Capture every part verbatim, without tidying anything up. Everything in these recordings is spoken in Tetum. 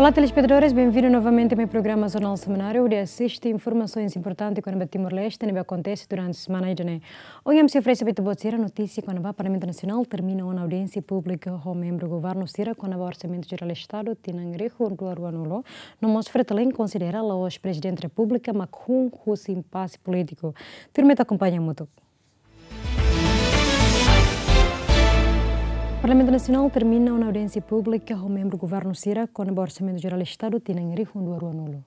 Olá, telespetadores, benvindu novamente mai programa Jornál Semanáriu, hodi asiste informasoens importantes kona-ba Timor-Leste ne'ebé akontese durante semana ida-ne'e. Ohin ami sei oferese ba ita-boot sira notísia kona-ba Parlamentu Nasionál termina ona audiénsia públika ho membru governu sira kona-ba Orsamentu Jerál Estadu tinan rihun rua ruanulu, no mós Fretilin konsidera la'ós Prezidente Repúblika mak hun husi impase polítiku. Tuirmai ita akompaña hamutuk. Parlamentu Nasionál termina ona audiénsia públika ho membru governu sira kona-ba Orsamentu Jerál Estadu tinan rihun rua ruanulu.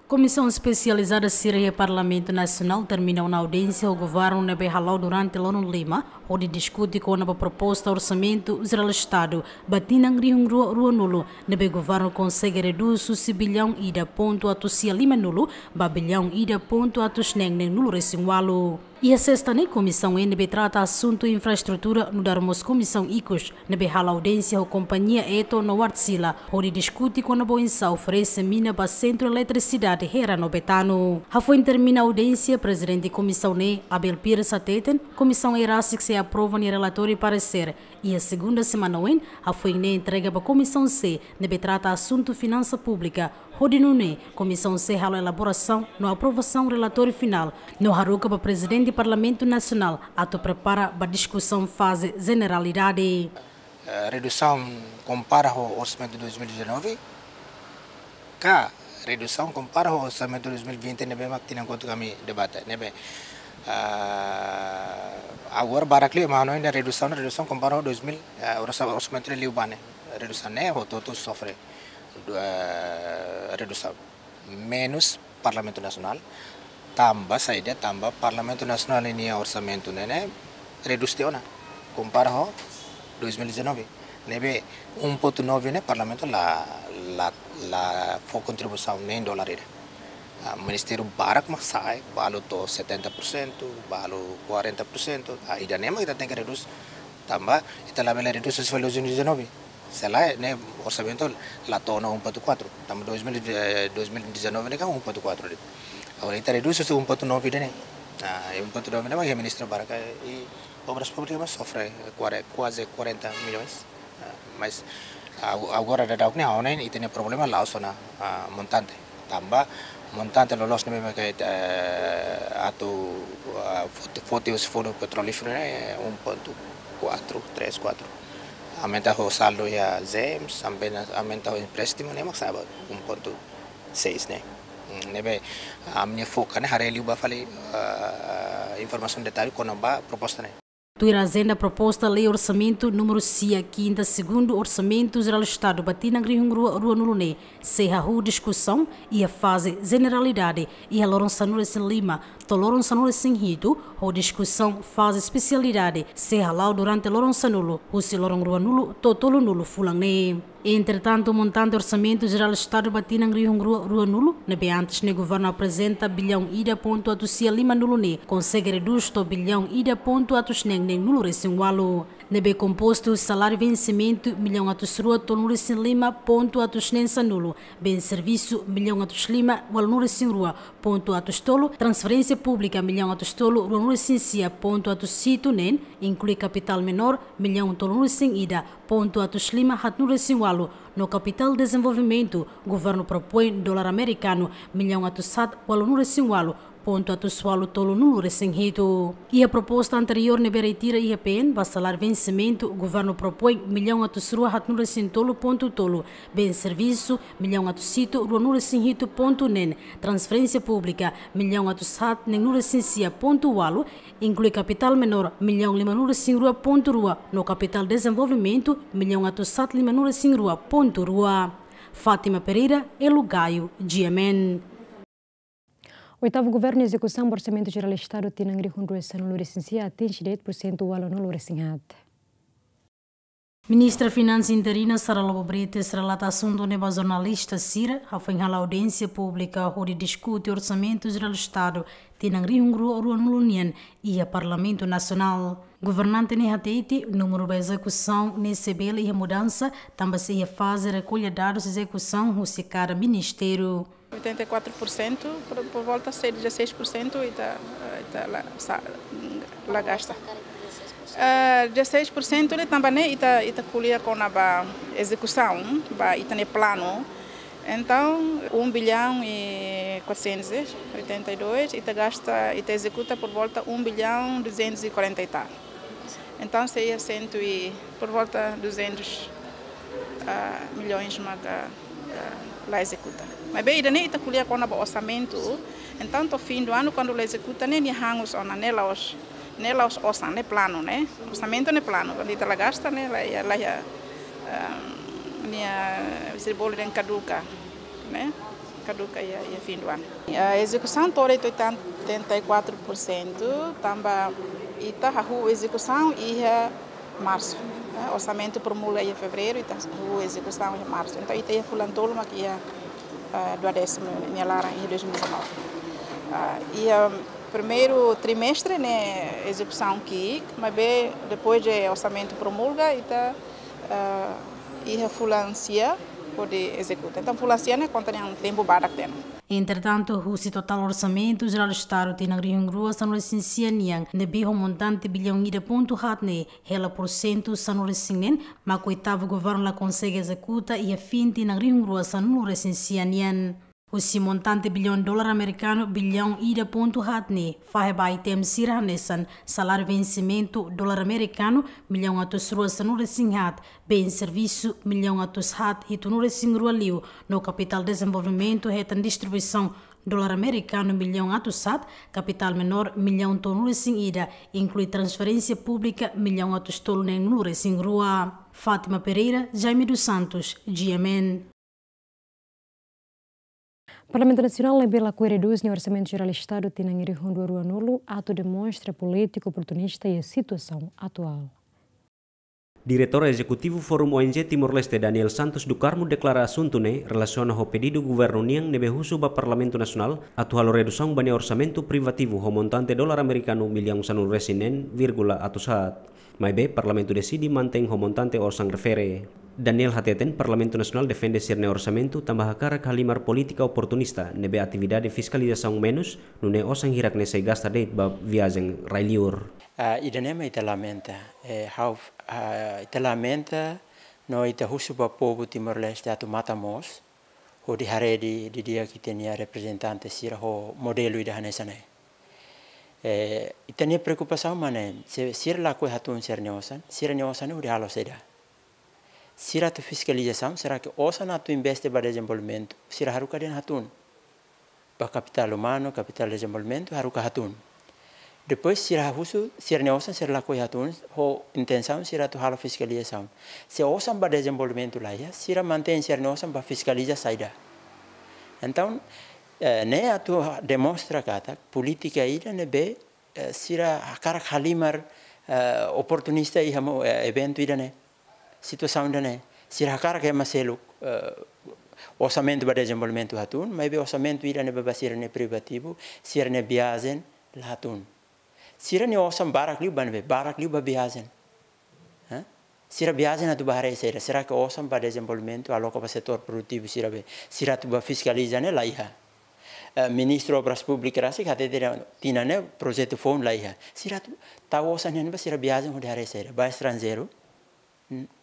Komisaun espesializada sira iha Parlamentu Nasionál termina ona audiénsia ho governu ne'ebé hala'o durante loron lima, hodi diskute kona-ba proposta Orsamentu Jerál Estadu ba tinan rihun rua ruanulu, ne'ebé governu konsege redús husi billaun ida pontu atus sia limanulu ba billaun ida pontu atus neen neenulu resin ualu. Iha sesta ne'e, komisaun ne'ebé trata asuntu infraestrutura nu'udar mós komisaun ikus ne'ebé hala'o audiénsia ho kompañia Eto no Wärtsilä, hodi diskute kona-ba oinsá oferese mina ba sentru eletrisidade Hera no Betano. Hafoin termina audiénsia, Prezidente komisaun ne'e, Abel Pires hateten, komisaun ne'e rasik sei aprova nia relatóriu paresér iha segunda semana oin, hafoin ne'e entrega ba komisaun C ne'ebé trata asuntu finansa públika, hodi nune'e komisaun C halo elaborasaun no aprovasaun relatóriu finál, no haruka ba Prezidente Parlamentu Nasionál atu prepara ba diskusaun faze jeneralidade. Eh, redusaun kompara ho orsamentu dois mil e dezanove, ka redusaun kompara ho orsamentu dois mil e vinte ne'ebé mak tinan kotuk ami debate, ne'ebé, ah, agora barak liu, mas no ainda redusaun, redusaun kompara ho dois mil, ah, orsa-, orsamentu liubá ne'e, redusaun ne'e hotu-hotu sofre, ah, redusaun. Menus Parlamentu Nasionál, tanba saida, tanba Parlamentu Nasionál ninia orsamentu ne'e, ne'e redús tiha ona, kompara ho dois mil e dezanove. Ne'ebé um ponto nove ne'e Parlamentu la, la, la fó kontribuisaun nein dolar ida. Ah, ministériu barak mak sa'e, balu to'o setenta por cento, balu quarenta por cento, ah, ida-ne'e mak ita tenke redús, tanba ita labele redús husi fali dois mil e dezanove. Se lae, ne'e orsamentu la to'o ona um ponto quatro. Tanba dois mil, eh, dois mil e dezanove ne'e kan um ponto quatro de'it. Agora ita redús husi um ponto nove ida-ne'e. Ah, e um ponto nove ne'e mak iha ministériu barak, eh, i Obras Públikas mak sofre kuare-, kuaze quarenta milhões. Ah, mas ago-, agora daudaun ne'e, ha'u hanoin ita-nia problema la'ós ona, ah, montante. Tanba montante loloos ne'ebé mak, eh, atu, ah, foti, foti husi Fundu Petrolíferu ne'e, eh, um ponto quatro, três, quatro. Aumenta ho saldu iha GEMS, aumenta, aumenta ho empréstimu ne'e mak sa'e ba um ponto seis ne'e. Hmm, ne'ebé, ah, ami-nia foka ne'e haree liu ba fali, ah, informasaun detallu kona-ba proposta ne'e. Tuir ajenda, proposta lei orsamentu númeru sia, kinta, segundu Orsamentu Jerál Estadu ba tinan rihun rua ruanulu ne'e sei hahú diskusaun iha faze jeneralidade iha loron sanulu-resin-lima to'o loron sanulu-resin-hitu, ho diskusaun faze espesialidade sei hala'o durante loron sanulu, husi loron ruanulu to'o tolunulu fulan ne'e. Entretantu, montante Orsamentu Jerál Estadu ba tinan rihun rua ruanulu, ne'ebé antes ne'e governu aprezenta billaun ida pontu atus sia limanulu ne'e, konsege redús to'o billaun ida pontu atus neen neenulu resin ualu. Ne'ebé kompostu saláriu vensimentu millaun atus rua tolunulu-resin-lima pontu atus neen sanulu, bens servisu millaun atus lima ualunulu-resin-rua pontu atus tolu, transferénsia públika millaun atus tolu ruanulu-resin-sia pontu atus hitu neen, inklui kapitál menór millaun tolunulu-resin-ida pontu atus lima haatnulu-resin-ualu, no kapitál dezenvolvimentu, governu propoin dolar amerikanu millaun atus haat ualunulu-resin-ualu pontu atus ualu tolunulu-resin-hitu. Iha proposta anteriór ne'ebé retira iha P N ba saláriu vensimentu, governu propoin millaun atus rua haatnulu-resin-tolu pontu tolu, bens servisu millaun atus hitu ruanulu-resin-hitu pontu neen, transferénsia públika millaun atus haat neenulu-resin-sia pontu ualu, inklui kapitál menór millaun limanulu-resin-rua pontu rua, no kapitál dezenvolvimentu millaun atus haat limanulu-resin-rua pontu rua. Fátima Pereira, Elo Gaio, G M N. Oitavu Governu ezekusaun Orsamentu Jerál Estadu tinan rihun rua sanulu-resin-sia atinje de'it pursentu ualunulu-resin-haat. Ministra Finansa interina Sara Lobo Brites relata asuntu ne'e ba jornalista sira, hafoin hala'o audiénsia públika hodi diskute Orsamentu Jerál Estadu tinan rihun rua ruanulu nian iha Parlamentu Nasionál. Governante ne'e hatete, númeru ba ezekusaun ne'e sei bele iha mudansa, tanba sei iha faze rekolla dadus ezekusaun husi kada ministériu. Oitenta e quatro por cento, por, por volta sei dezasseis por cento ita, ita la, sa-, la gasta. Ah, dezasseis por cento ne'e tanba ne'e ita, ita ko'alia kona-ba ezekusaun, ba ita-nia planu. Entaun, um bilhão e quatrocentos e oitenta e dois, ita gasta, ita ezekuta por volta um bilhão duzentos e quarenta e tal. Entaun, sei iha cento e, por volta duzentos, ah, milhões maka, ah, la ezekuta. Maibé ida-ne'e ita ko'alia kona-ba orsamentu. Entaun, to'o fim do ano, kuandu la ezekuta ne'e, nia hangus ona, ne'e la'ós, ne'e la'ós osan, ne'e planu, ne'e. Orsamentu ne'e planu. Kuandu ita la gasta ne'e, la iha, la iha, ah, nia, se bolu dehan kaduka, ne'e. Kaduka iha, iha fim do ano. A ezekusaun to'o oitenta e quatro por cento, tanba ita hahú ezekusaun iha marsu. Eh, orsamentu promulga iha fevereiru, ita hahú ezekusaun iha marsu. Entaun, ita iha fulan tolu mak iha, eh, duodésimu nia laran iha dois mil e dezanove. Ah, iha primeiru trimestre ne'e ezekusaun ki'ik, maibé depois de orsamentu promulga, ita, eh, iha fulan sia hodi ezekuta. Entaun, fulan sia ne'e konta nian tempu badak tiha ona. Entretantu, husi totál orsamentu jerál Estadu tinan rihun rua sanulu-resin-sia nian, ne'ebé ho montante bilhão ida pontu haat ne'e, hela porsentu sanulu-resin-neen, mak oitavu governu la konsege ezekuta iha fin tinan rihun rua sanulu-resin-sia nian. Husi montante bilhão dolar amerikanu bilhão ida pontu haat ne'e, fahe ba item sira hanesan saláriu vensimentu dolar amerikanu milhão atus rua sanulu-resin-haat, bens servisu milhão atus haat hitunulu-resin-rua liu, no kapitál dezenvolvimentu hetan distribuisaun dolar amerikanu milhão atus haat, kapitál menór milhão tolunulu-resin-ida, inklui transferénsia públika milhão atus tolu neenulu-resin-rua. Fátima Pereira, Jaime dos Santos, G M N. Parlamentu Nasionál ne'ebé lakohi redús nia Orsamentu Jerál Estadu tinan rihun rua ruanulu atu demonstra polítika oportunista iha situasaun atuál. Diretór Ezekutivu Fórum O N G Timor-Leste, Daniel Santos do Carmo, deklara asuntu ne'e relasiona ho pedidu governu nian ne'ebé husu ba Parlamentu Nasionál atu halo redusaun ba nia orsamentu privativu ho montante dolar amerikanu millaun sanulu-resin-neen vírgula atus haat. Maibé, Parlamentu deside mantein ho montante orsan refere. Daniel hateten Parlamentu Nasionál defende sira-nia orsamentu tanba hakarak halimar polítika oportunista ne'ebé atividade fiskalizasaun menus, nune'e osan hirak ne'e sei gasta de'it ba viajen rai-liur. Ah, ida-ne'e mak ita lamenta. Eh, ha'u, ah, ita lamenta no ita husu ba povu Timor-Leste atu matan-moos, hodi haree didi'ak ita-nia reprezentante sira ho modelu ida hanesan ne'e. Eh, ita-nia preokupasaun mak ne'e, se sira lakohi hatún sira-nia osan, sira-nia osan ne'e hodi halo saida? Sira atu fiskalizasaun, será que osan atu investe ba dezenvolvimentu, sira haruka dehan hatún? Ba kapitál umanu, kapitál dezenvolvimentu, haruka hatún. Depois sira husu, sira-nia osan sira lakohi hatún, ho intensaun sira atu halo fiskalizasaun. Se osan ba dezenvolvimentu la iha, sira mantein sira-nia osan ba fiskaliza saida? Entaun, eh, ne'e atu demonstra katak polítika ida ne'ebé, eh, sira hakarak halimar, eh, oportunista iha mo-, eh, eventu ida-ne'e. Situasaun ida-ne'e, sira hakarak ema seluk, eh, orsamentu ba dezenvolvimentu hatún, maibé orsamentu ida ne'ebé ba sira-nia privativu, sira-nia viajen la hatún. Sira-nia osan barak liu ba ne'ebé, barak liu ba viajen. Hã? Sira viajen atu ba haree saida? Será que osan ba dezenvolvimentu aloka ba setór produtivu sira be, sira atu ba fiskaliza ne'e la iha? Eh, Ministru Obras Públikas rasik hatete tinan ne'e projetu foun la iha. Sira atu tau osan ne'e ba sira viajen hodi haree saida? Ba estranjeiru?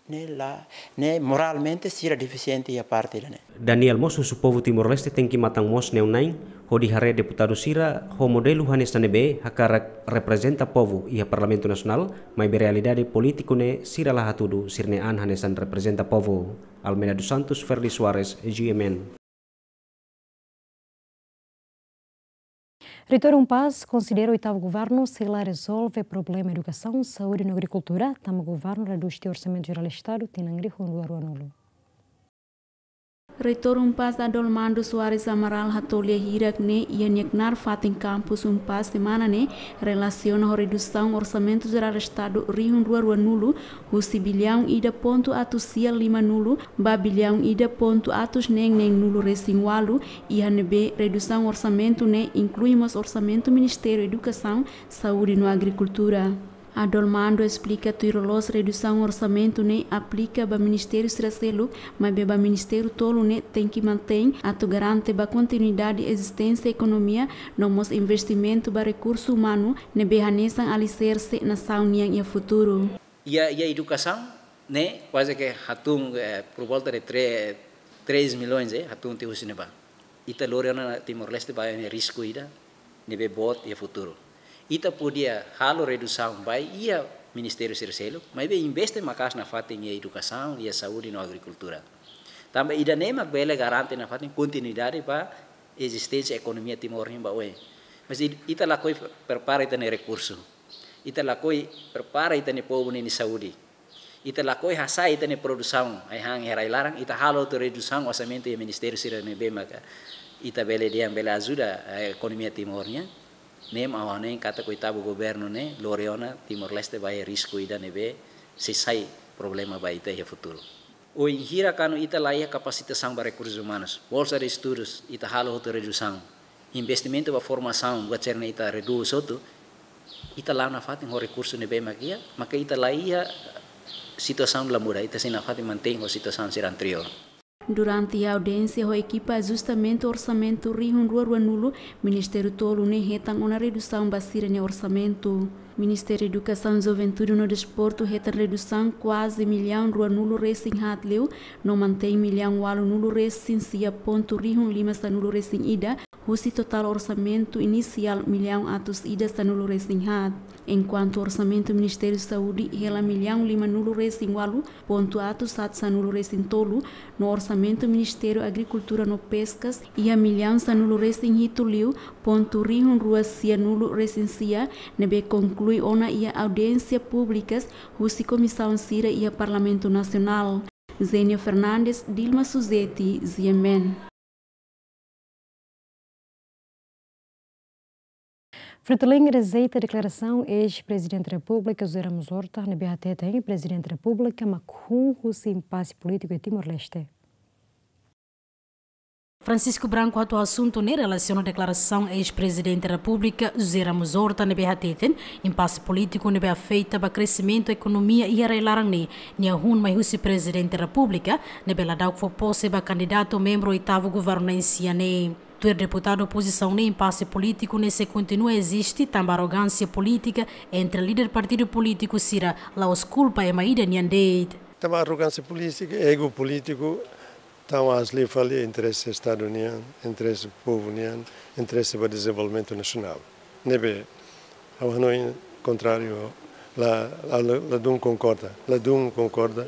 Ne'e la, ne'e moralmente sira defisiente iha parte ida-ne'e. Daniel mós husu povu Timor-Leste tenke matan-moos neon-na'in, hodi haree deputadu sira ho modelu hanesan ne'ebé hakarak reprezenta povu iha Parlamentu Nasionál, maibé realidade polítiku ne'e sira la hatudu sira-nia an hanesan reprezenta povu. Almeida dos Santos, Ferdi Soares, G M N. Reitór UNPAZ konsidera oitavu governu sei la rezolve problema edukasaun, saúde no agrikultura, tanba governu redús tiha Orsamentu Jerál Estadu tinan rihun rua ruanulu. Reitór UNPAZ Adolmando Soares Amaral hato'o lia hirak ne'e iha nia knaar fatin kampus UNPAZ semana ne'e relasiona ho redusaun Orsamentu Jerál Estadu rihun rua ruanulu, husi bilhão ida pontu atus sia limanulu ba bilhão ida pontu atus neen neenulu resin ualu, iha ne'ebé redusaun orsamentu ne'e inklui mós orsamentu Ministériu Edukasaun, Saúde no Agrikultura. Adolmando esplika tuir loloos redusaun orsamentu ne'e aplika ba ministériu sira seluk, maibé ba ministériu tolu ne'e tenke mantein atu garante ba kontinuidade ezisténsia ekonomia, no mós investimentu ba rekursu umanu ne'ebé hanesan aliserse nasaun nian iha futuru. Iha, iha edukasaun ne'e kuaze ke hatún, eh, por volta de tre-, três milhões, eh, hatún tiha husi ne'ebá. Ita lori ona Timor-Leste ba iha risku ida ne'ebé boot iha futuru. Ita podia halo redusaun ba iha ministériu sira seluk, maibé investe maka'as nafatin iha edukasaun, iha saúde no agrikultura. Tanba ida-ne'e mak bele garante nafatin kontinuidade ba ezisténsia ekonomia Timor nian ba oin. Mas it-, ita lakohi prepara ita-nia rekursu. Ita lakohi prepara ita-nia povu nia saúde. Ita lakohi hasa'e ita-nia produsaun, ai-han iha rai-laran, ita halo hotu redusaun orsamentu iha ministériu sira ne'ebé maka ita bele dehan bele ajuda, eh, ekonomia Timor nian. Ne'e mak ha'u hanoin katak oitavu governu ne'e lori ona Timor-Leste ba iha risku ida ne'ebé sei sai problema ba ita iha futuru. Wainhira kuandu ita la iha kapasitasaun ba rekursus umanus, bolsa de estudus, ita halo hotu redusaun. Investimentu ba formasaun, buat sira-ne'e ita redús hotu, ita la'o nafatin ho rekursu ne'ebé mak iha, maka ita la iha situasaun la muda, ita sei nafatin mantein ho situasaun sira anteriór. Durante audiénsia ho ekipa ajustamentu orsamentu rihun rua ruanulu, ministériu tolu ne'e hetan ona redusaun ba sira-nia orsamentu. Ministériu Edukasaun, Juventude no Desportu hetan redusaun kuaze millaun ruanulu resin haat liu, no mantein millaun ualunulu resin sia pontu rihun lima sanulu resin ida, husi totál orsamentu inisiál millaun atus ida sanulu resin haat. Enkuantu orsamentu Ministériu Saúde hela millaun limanulu resin ualu pontu atus haat sanulu resin tolu, no orsamentu Ministériu Agrikultura no Peskas iha millaun sanulu resin hitu liu pontu rihun rua sianulu resin sia, ne'ebé konklui ona iha audiénsia públikas husi komisaun sira iha Parlamentu Nasionál. Zenia Fernandes, Dilma Suzeti, G M N. Fretilin rejeita deklarasaun eis-Prezidente Repúblika José Ramos Horta, ne'ebé hateten Prezidente Repúblika mak hun husi impase polítiku iha Timor-Leste. Francisco Branco hato'o asuntu ne'e relasiona deklarasaun eis-Prezidente Repúblika José Ramos Horta ne'ebé hateten impase polítiku ne'ebé afeta ba kreximentu ekonomia iha rai-laran ne'e nia hun mai husi Prezidente Repúblika ne'ebé ladún fó pose ba kandidatu membru oitavu governansia ne'e. Tuir deputadu opozisaun ne'e, impase polítiku ne'e sei kontinua eziste tanba arrogánsia polítika entre líder partidu polítiku sira, la'ós kulpa ema ida nian de'it. Tanba arrogánsia polítika, ego polítiku, tau aas liu fali interese Estadu nian, interese povu nian, interese ba dezenvolvimentu nasionál. Ne'ebé, ha'u hanoin kontráriu, la, la, la, ladún konkorda, ladún konkorda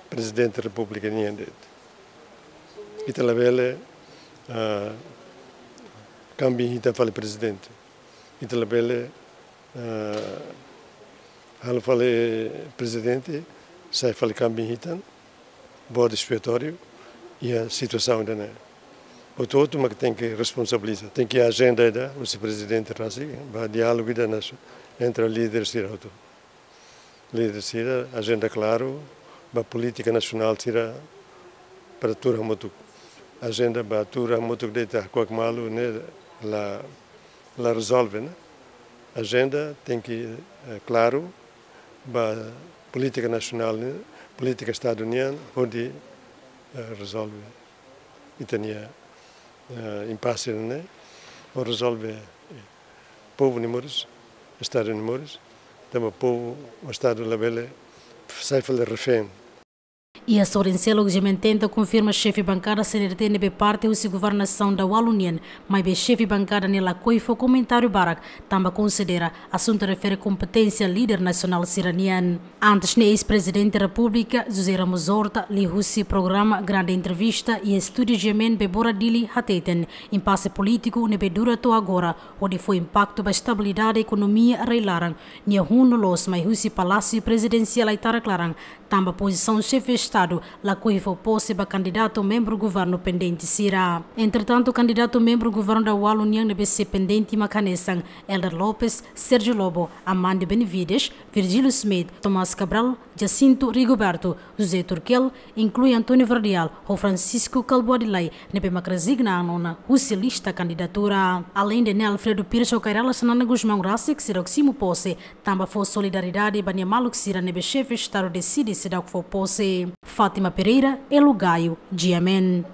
Prezidente Repúblika nian de'it. Ita labele, ah, kambing hitan fali Prezidente. Ita labele, ah, halo fali Prezidente, sai fali kambing hitan, bode expiatóriu, iha situasaun ida-ne'e. Hotu-hotu mak tenke responsabiliza, tenke ajenda ida, husi Prezidente rasik, ba diálogu ida nas-, entre líder sira hotu. Líder sira, ajenda klaru, ba polítika nasionál sira, para tuur hamutuk. Ajenda ba tuur hamutuk de'it hakuak malu ne'e la, la rezolve, ne'e. Ajenda tenke, eh, klaru, ba polítika nasionál ne'e, polítika Estadu nian, hodi, eh, rezolve ita-nia, eh, impase ne'e, hodi rezolve, eh, povu nia moris, Estadu nia moris, tanba povu, Estadu labele sai fali refén. Iha sorin seluk G M N tenta konfirma xefe bankada C N R T ne'ebé parte husi governasaun daualu nian, maibé xefe bankada ne'e lakohi fó komentáriu barak, tanba konsidera asuntu refere kompeténsia líder nasionál sira-nian. Antes ne'e eis-Prezidente Repúblika José Ramos Horta, liuhusi programa Grande Entrevista iha estúdiu G M N Bebora Dili hateten, impase polítiku ne'ebé dura to'o agora, hodi fó impaktu ba estabilidade ekonomia rai-laran, nia hun loloos mai husi Palásiu Prezidensiál Aitarak-Laran, tanba pozisaun xefe Estadu lakohi fó pose ba kandidatu membru governu pendente sira. Entretantu, kandidatu membru governu daualu nian ne'ebé sei pendente mak hanesan Helder Lopes, Sérgio Lobo, Amândio Benevides, Virgílio Schmidt, Tomás Cabral, Jacinto Rigoberto, José Turkel, inklui António Verdial ho Francisco Kalbuadi Lay ne'ebé mak rezigna ona husi lista kandidatura. Aleinde ne'e, Alfredo Pires ho Kay Rala Xanana Gusmão rasik seidauk simu pose, tanba fó solidariedade ba nia maluk sira ne'ebé xefe Estadu deside seidauk fó pose. Fátima Pereira, Elo Gaio, G M N.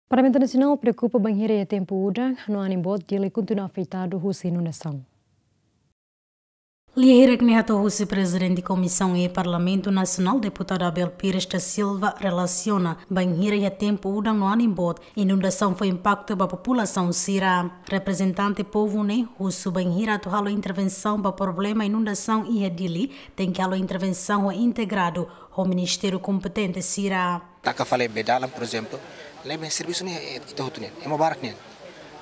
Parlamentu Nasionál preokupa bainhira iha tempu udan no anin boot Dili kontinua afetadu husi inundasaun. Lia hirak-ne'e hato'o husi Prezidente Komisaun E Parlamentu Nasionál, Deputadu Abel Pires da Silva, relasiona bainhira iha tempu udan no anin boot, inundasaun fó impaktu ba populasaun sira. Reprezentante povu ne'e husu bainhira atu halo intervensaun ba problema inundasaun iha Dili, tenke halo intervensaun ho integradu ho ministériu kompetente sira. Taka fali bee dalan, por ezemplu, ne'ebé servisu ne'e, eh, ita hotu nian, ema barak nian.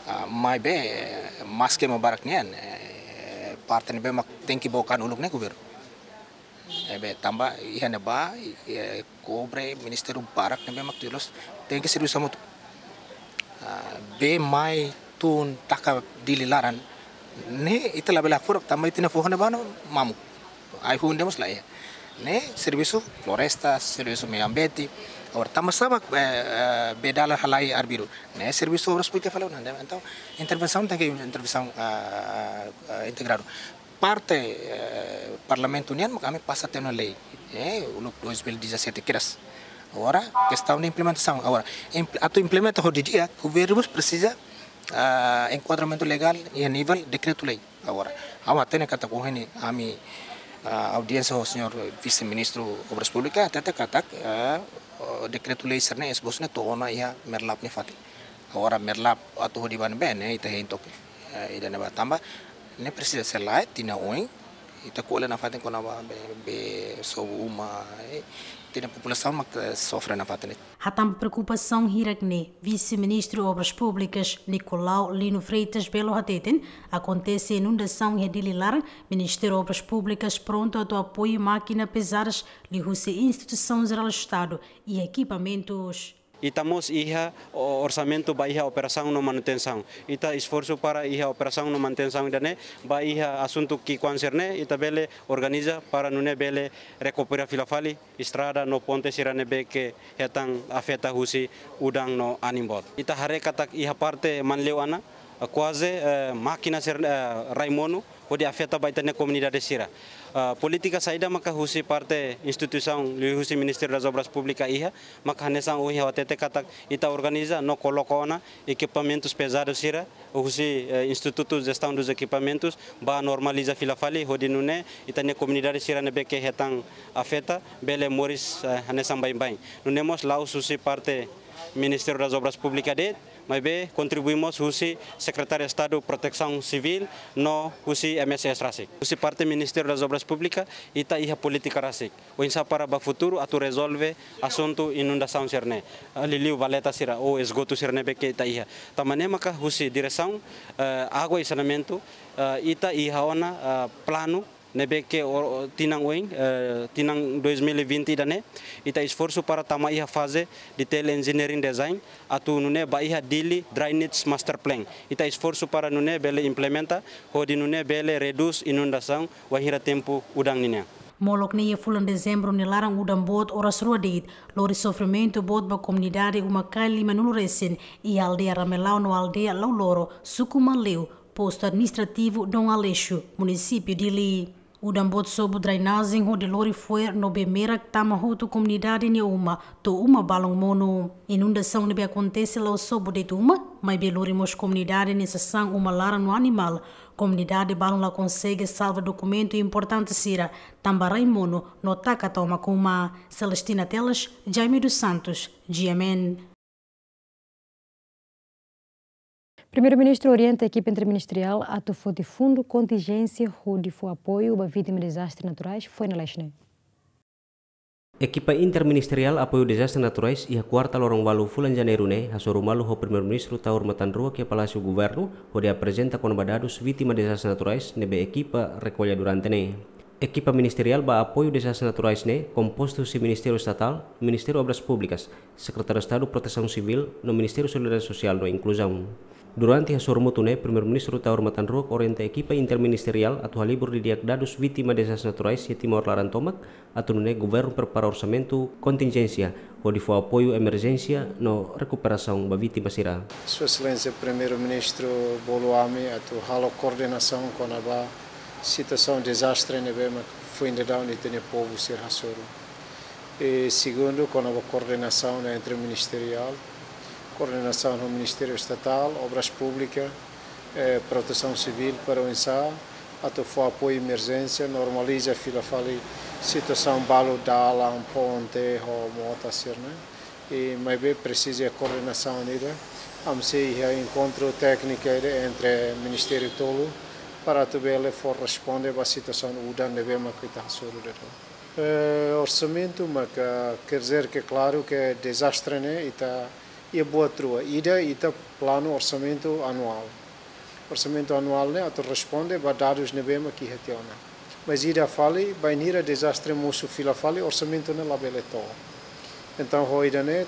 Ah, maibé, eh, maske ema barak nian, eh, parte ne'ebé mak tenke book an uluk ne'e governu. Ne'ebé tanba iha ne'ebá, eh, kobre ministériu barak ne'ebé mak tuir loos, tenke servisu hamutuk. Ah, bee mai tun taka Dili laran, ne'e ita labele hakfodak tanba ita-nia foho ne'ebá ne'e mamuk. Ai-hun de'it mós laiha. Ne'e servisu floresta, servisu meiu ambiente. Agora, tanba sá mak, eh, eh, bee dalan halai arbiru? Ne'e servisu Obras Públikas fali ona. Entaun, intervensaun tenke intervensaun, ah, ah, integradu. Parte, eh, Parlamentu nian mak ami pasa tiha ona lei, eh, uluk dois mil e dezassete kedas. Agora, kestaun de implementasaun. Agora, impl-, atu implementa ho di'ak, governu presiza, ah, enkuadramentu legál iha nivel dekretu-lei. Agora, ha'u hatene katak ohin ne'e ami, ah, audiénsia ho señór Vise-Ministru Obras Públikas, hatete katak, ah, dekretu-lei sira-ne'e, esbosu ne'e to'o ona iha Merlap nia fatin. Agora Merlap atu hodi ba ne'ebé ne'e, ita hein took, eh, ida-ne'ebá tanba ne'e presiza sei la'o tinan oin, ita ko'alia nafatin kona-ba bee, bee sobu uma, eh, ita-nia populasaun mak, eh, sofre nafatin. Hatán ba preokupasaun hirak-ne'e, Vise-Ministru Obras Públikas, Nicolau Lino Freitas Belo hateten, akontese inundasaun iha Dili laran, Ministériu Obras Públikas prontu atu apoiu mákina pezadas liuhusi instituisaun jerál Estadu i ekipamentus. Ita mós iha o-, orsamentu ba iha operasaun no manutensaun. Ita esforsu para iha operasaun no manutensaun ida-ne'e, ba iha asuntu ki'ikoan sira-ne'e, ita bele organiza para nune'e bele rekupera fila fali estrada no ponte sira ne'ebé ke hetan afeta husi udan no anin boot. Ita haree katak iha parte Manleu Ana, eh, kuaze, eh, mákina sira, eh, rai monu, hodi afeta ba ita-nia komunidade sira. Ah, polítika saida maka husi parte instituisaun, liuhusi Ministériu das Obras Públikas iha, maka hanesan ohin ha'u hatete katak ita organiza no koloka ona ekipamentus pezadus sira, husi, eh, Institutu Jestaun dos Ekipamentus, ba normaliza fila fali, hodi nune'e ita-nia komunidade sira ne'ebé ke hetan afeta, bele moris, eh, hanesan baibain. Nune'e mós la'ós husi parte Ministériu das Obras Públikas de'it, maibé kontribui mós husi Sekretáriu Estadu Protesaun Sivíl no husi M S S rasik. Husi parte Ministériu das Obras Públikas, ita iha polítika rasik. Oinsá para ba futuru atu rezolve asuntu inundasaun sira-ne'e. Ah, liuliu valeta sira ou esgotu sira ne'ebé ke ita iha. Tanba ne'e maka husi diresaun, eh, água e saneamentu, eh, ita iha ona, eh, planu ne'ebé ke o-, o-, tinan oin, eh, tinan dois mil e vinte ida-ne'e, ita esforsu para tama iha faze detail engineering design, atu nune'e ba iha Dili Drainage Master Plan. Ita esforsu para nune'e bele implementa, hodi nune'e bele redús inundasaun wainhira tempu udan ninian. Molok ne'e iha fulan Dezembru nia laran udan boot oras rua de'it, lori sofrimentu boot ba komunidade uma Kai limanulu resin, iha aldeia Ramelau no aldeia Lauloro, suku Manleu, postu administrativu Dom Aleixo, munisípiu Dili. Udan boot sobu drenajen hodi lori fo'er no bee merak tama hotu komunidade nia uma, to'o uma balun monu. Inundasaun ne'ebé akontese la'ós sobu de'it uma, maibé lori mós komunidade nia sasán, uma, laran no animál. Komunidade balun la konsege salva dokumentu importante sira, tanba rai monu no taka tomak uma. Celestina Teles, Jaime dos Santos, G M N. Primeiru-Ministru orienta ekipa interministeriál atu foti fundu kontinjénsia hodi fó apoiu ba vítima dezastre naturais, foin lalais ne'e. Ekipa interministeriál apoiu dezastre naturais iha kuarta loron ualu fulan Janeiru ne'e hasoru malu ho Primeiru-Ministru Taur Matan Ruak iha Palásiu Governu, hodi aprezenta kona-ba dadus vítima dezastre naturais ne'ebé ekipa rekolla durante ne'e. Ekipa ministeriál ba apoiu dezastre naturais ne'e kompostu husi Ministériu Estatál, Ministériu Obras Públikas, Sekretáriu Estadu Protesaun Sivíl, no Ministériu Solidariedade Sosiál no Inkluzaun. Durante hasoru mútuu ne'e, Primeiru-Ministru Taur Matan Ruak orienta ekipa interministeriál atu halibur didi'ak dadus vítima dezastre naturais iha Timor laran tomak, atu nune'e governu prepara orsamentu kontinjénsia hodi fó apoiu emerjénsia no rekuperasaun ba vítima sira. Sua Exelénsia Primeiru-Ministru bolu ami atu halo koordenasaun kona-ba situasaun dezastre ne'ebé mak foin daudaun ita-nia povu sira hasoru. I segundu, kona-ba koordenasaun entre ministeriál, koordenasaun ho Ministériu Estatál, Obras Públikas, eh, Protesaun Sivíl para oinsá atu fó apoiu emerjénsia, normaliza fila fali situasaun balu dalan, ponte, ho mota sira-ne'e. I maibé presiza koordenasaun ida, ami sei iha enkontru tékniku ida entre ministériu tolu para atu bele fó responde ba situasaun udan ne'ebé mak ita hasoru daudaun. Eh, orsamentu maka, quer dizer que klaru ke dezastre ne'e ita iha buat rua. Ida ita planu orsamentu anuál. Orsamentu anuál ne'e atu responde ba dadus ne'ebé mak iha tiha ona. Mas ida fali, bainhira dezastre mosu fila fali, orsamentu ne'e labele to'o. Entaun, ho ida-ne'e,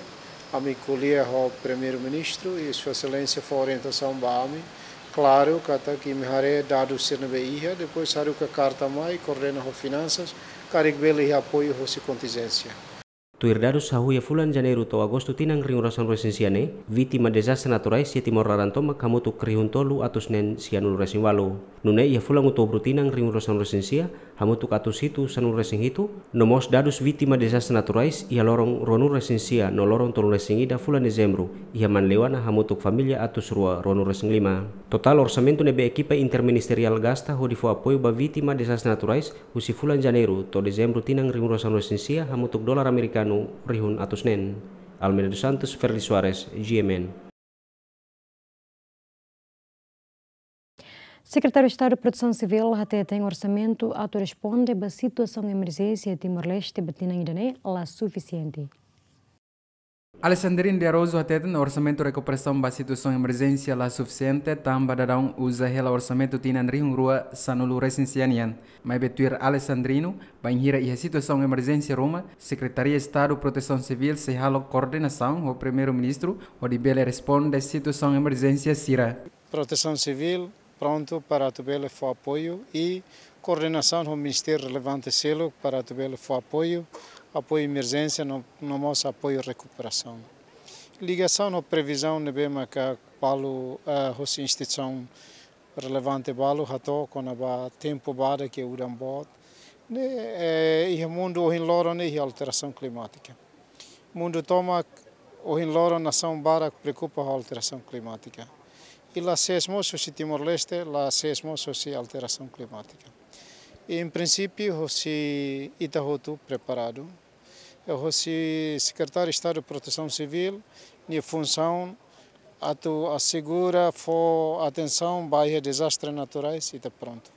ami ko'alia ho Primeiru-Ministru i Sua Exelénsia fó orientasaun ba ami. Klaru katak imi haree dadus sira ne'ebé iha, depois haruka karta mai, koordena ho finansas, karik bele iha apoiu hosi kontinjénsia. Tuir dadus hahú iha fulan Janeiru to'o Agostu tinan rihun ruasan resin sia ne'e, vítima dezastre naturais iha Timor laran tomak hamutuk rihun tolu atus neen sianulu resin ualu. Nune'e iha fulan Outubru tinan rihun ruasan resin sia, hamutuk atus hitu sanulu resin hitu, no mós dadus vítima dezastre naturais iha loron ruanulu resin sia no loron tolunulu resin ida fulan Dezembru, iha Manleuana hamutuk família atus rua ruanulu resin lima. Totál orsamentu ne'ebé ekipa interministeriál gasta hodi fó apoiu ba vítima dezastre naturais, husi fulan Janeiru to'o Dezembru tinan rihun ruasan resin sia hamutuk dolar amerikanu rihun atus neen. Almeida dos Santos, Ferdi Soares, G M N. Sekretáriu Estadu Protesaun Sivíl hateten orsamentu atu responde ba situasaun emerjénsia Timor-Leste ba tinan ida-ne'e la sufisiente. Alexandrino de Araújo hateten orsamentu rekuperasaun ba situasaun emerjénsia la sufisiente, tanba daudaun uza hela orsamentu tinan rihun rua sanulu resin sia nian. Maibé tuir Alexandrino, bainhira iha situasaun emerjénsia ruma, Sekretaria Estadu Protesaun Sivíl sei halo koordenasaun ho Primeiru-Ministru hodi bele responde situasaun emerjénsia sira. Protesaun Sivíl prontu para atu bele fó apoiu i koordenasaun ho ministériu relevante seluk para atu bele fó apoiu, apoiu emerjénsia no, no mós apoiu rekuperasaun. Ligasaun ho previzaun ne'ebé maka balu, eh, hosi instituisaun relevante balu hato'o kona-ba tempu badak ke udan boot. Ne'e, eh, iha mundu ohin loron ne'e iha alterasaun klimátika. Mundu tomak ohin loron nasaun barak preokupa ho alterasaun klimátika. I la sees mós husi Timor-Leste, la sees mós husi alterasaun klimátika. I, em princípio, hosi ita hotu preparadu. I hosi Sekretáriu Estadu Protesaun Sivíl, nia funsaun atu asegura fó atensaun ba iha dezastre naturais, ita prontu.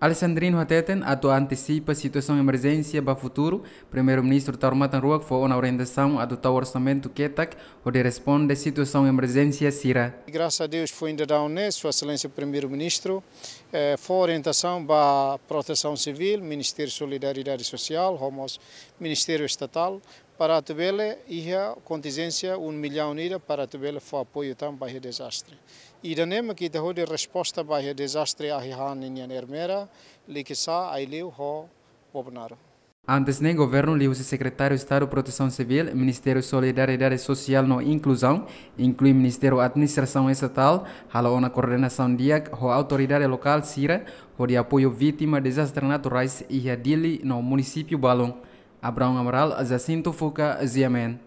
Alexandrino hateten atu antesipa situasaun emerjénsia ba futuru, Primeiru-Ministru Taur Matan Ruak fó ona orientasaun atu tau orsamentu ketak hodi responde situasaun emerjénsia sira. Grasas a Deus foin daudaun ne'e, Sua Exelénsia Primeiru-Ministru, eh, fó orientasaun ba Protesaun Sivíl, Ministériu Solidariedade Sosiál, ho mós Ministériu Estatál, para atu bele iha kontinjénsia um milhão ida para atu bele fó apoiu tan ba iha dezastre. Ida-ne'e mak ita hodi resposta ba iha dezastre Ahi-han nian, Ermera, Likisá, Aileu ho Bobonaro. Antes ne'e, governu liuhusi Sekretáriu Estadu Protesaun Sivíl, Ministériu Solidariedade Sosiál no Inkluzaun, inklui Ministériu Administrasaun Estatál, halo ona koordenasaun di'ak ho autoridade lokál sira hodi apoiu vítima dezastre naturais iha Dili no munisípiu balun. Abraão Amaral, Jacinto Fuca, G M N.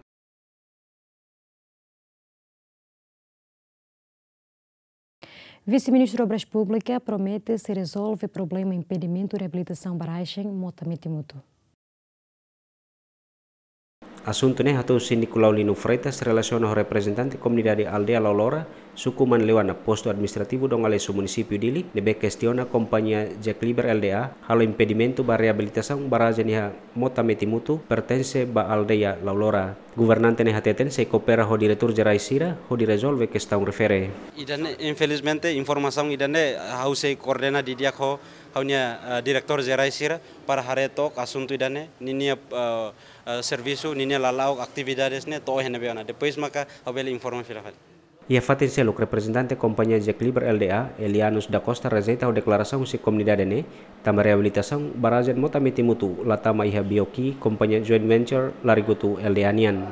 Vise-Ministru Obras Públikas promete sei rezolve problema impedimentu reabilitasaun barrajen Mota Metimutu. Asuntu ne'e hato'o husi Nicolau Lino Freitas, relasiona ho reprezentante komunidade aldeia Laulora, suku Manleuana, postu administrativu Dongaleso, munisípiu Dili, ne'ebé kestiona kompañia Jekliber L D A halo impedimentu ba reabilitasaun barrajen iha Mota Metimutu, pertense ba aldeia Laulora. Governante ne'e hateten sei koopera ho diretór jerais sira hodi rezolve kestaun refere. Ida-ne'e, infelizmente, informasaun ida-ne'e ha'u sei koordena didi'ak ho Ha'u-nia, eh, diretór jerais sira para haree took asuntu ida-ne'e, ninia, eh, eh, servisu, ninia lala'ok, atividades ne'e to'o iha ne'ebé ona. Depois maka ha'u bele informa fila fali. Iha fatin seluk, reprezentante kompañia Jack Lieber L D A, Elianus da Costa, rejeita ho deklarasaun husi komunidade ne'e, tanba reabilitasaun barajen Mota Meti-Mutu la tama iha B O Q kompañia joint venture Larigutu L D A nian.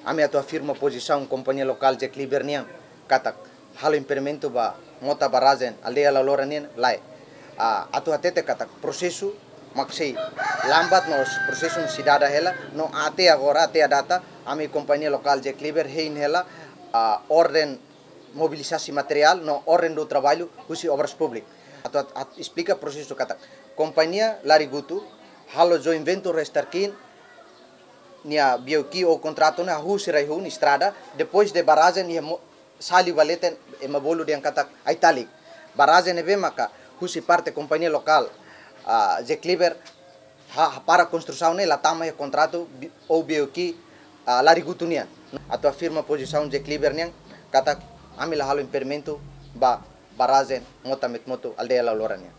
Ami atu afirma pozisaun kompañia lokál Jack Lieber nian katak halo impedimentu ba mota barajen aldeia Laulora nian lae. Ah, atu hatete katak prosesu mak sei lambat no prosesu sei dada hela, no até agora, até à data, ami kompañia lokál Jack Lieber hein hela, ah, orden mobilizasaun materiál no orden do traballu husi Obras Públikas. Atu, atu, atu esplika prosesu katak kompañia Larigutu halo joint venture Star King nia B O Q ou kontratu ne'e hahú sira iha hun estrada, depois de barajen iha Mo-, Sali ba leten ema bolu dehan katak Aitalik. Barajen ne'ebé maka husi parte kompañia lokál, ah, Jack Lieber ha-, hapara konstrusaun ne'e la tama iha kontratu bi-, ou B O Q, ah, Larigutu nian. Atu afirma pozisaun Jack Lieber nian katak ami la halo impedimentu ba barajen Mota Meti-Mutu aldeia Laulora nian.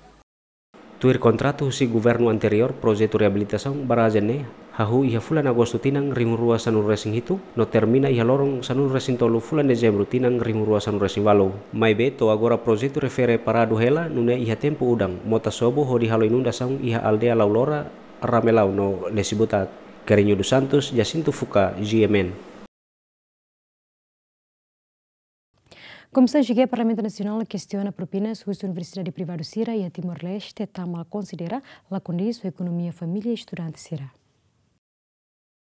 Tuir kontratu husi governu anteriór, projetu reabilitasaun barajen ne'e hahú iha fulan Agostu tinan rihun rua sanulu resin hitu, no termina iha loron sanulu resin tolu fulan Dezembru tinan rihun rua sanulu resin walu. Maibé to'o agora projetu refere paradu hela, nune'e iha tempu udan, mota sobu hodi halo inundasaun iha aldeia Laulora, Ramelau no Lesibutat. Kerinho dos Santos, Jacinto Fuca, G M N. Komisaun G G Parlamentu Nasionál kestiona propinas husi universidade privadu sira iha Timor-Leste tanba konsidera la kondiz ho ekonomia família estudante sira.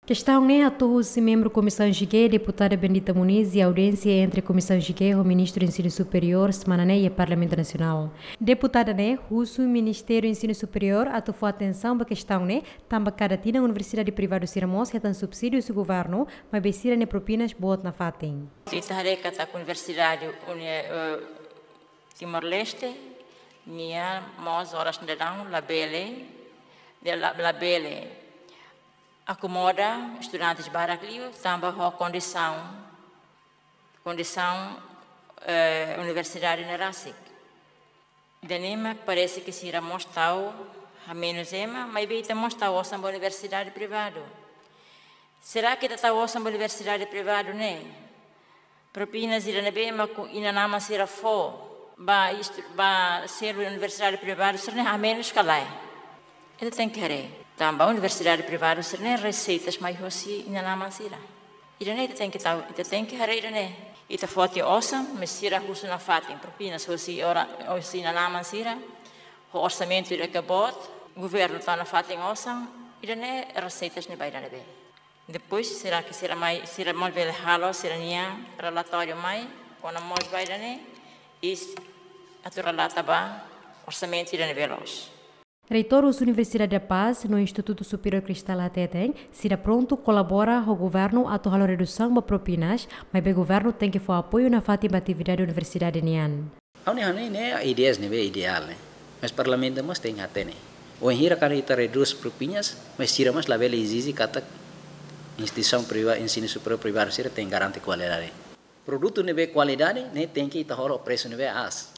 Kestaun ne'e hato'o husi membru Komisaun G G, Deputada Bendita Muniz, iha audiénsia entre Komisaun G G ho Ministru Ensinu Superiór semana ne'e iha Parlamentu Nasionál. Deputada ne'e husu Ministériu Ensinu Superiór atu fó atensaun ba kestaun ne'e, tanba kada tinan universidade privadu sira mós hetan subsídiu husi governu, maibé sira-nia propinas boot nafatin. Ita haree katak Universidade Uni-, eh, Timor-Leste nian mós oras daudaun labele, de la-, labele akomoda estudantes barak liu tanba ho kondisaun, kondisaun, eh, universidade ne'e rasik. Ida-ne'e mak parese ke sira mós tau hamenus ema, maibé ita mós tau osan ba universidade privadu. Será ke ita tau osan ba universidade privadu ne'e? Propinas ida ne'ebé mak inan-aman sira fó ba estu-, ba selu universidade privadu sira-ne'e hamenus ka lae? Ita tenke haree. Tanba universidade privadu sira-ne'e reseitas mai hosi inan-aman sira. Ida-ne'e ita tenke tau, ita tenke haree ida-ne'e. Ita fó tiha osan, mas sira husu nafatin propinas hosi ora, hosi inan-aman sira. Ho orsamentu ida ke boot, governu tau nafatin osan, ida-ne'e reseitas ne'e ba ida ne'ebé? Depois, será ke sira mai, sira mós bele halo sira-nia relatóriu mai, kona-ba mós ba ida-ne'e, i atu relata ba orsamentu ida ne'ebé loos. Reitór husi Universidade da Paz no Institutu Superiór Cristal hateten, sira prontu kolabora ho governu atu halo redusaun ba propinas, maibé governu tenke fó apoiu nafatin ba atividade universidade nian. Ha'u-nia hanoin ne'e ideias ne'ebé ideál ne'e. Mas Parlamentu mós tenke hatene. Wainhira karik ita redús propinas, mas sira mós labele ezije katak instituisaun priva-, ensinu superiór privadu sira tenke garante kualidade. Produtu ne'ebé kualidade, ne'e tenke ita halo presu ne'ebé aas.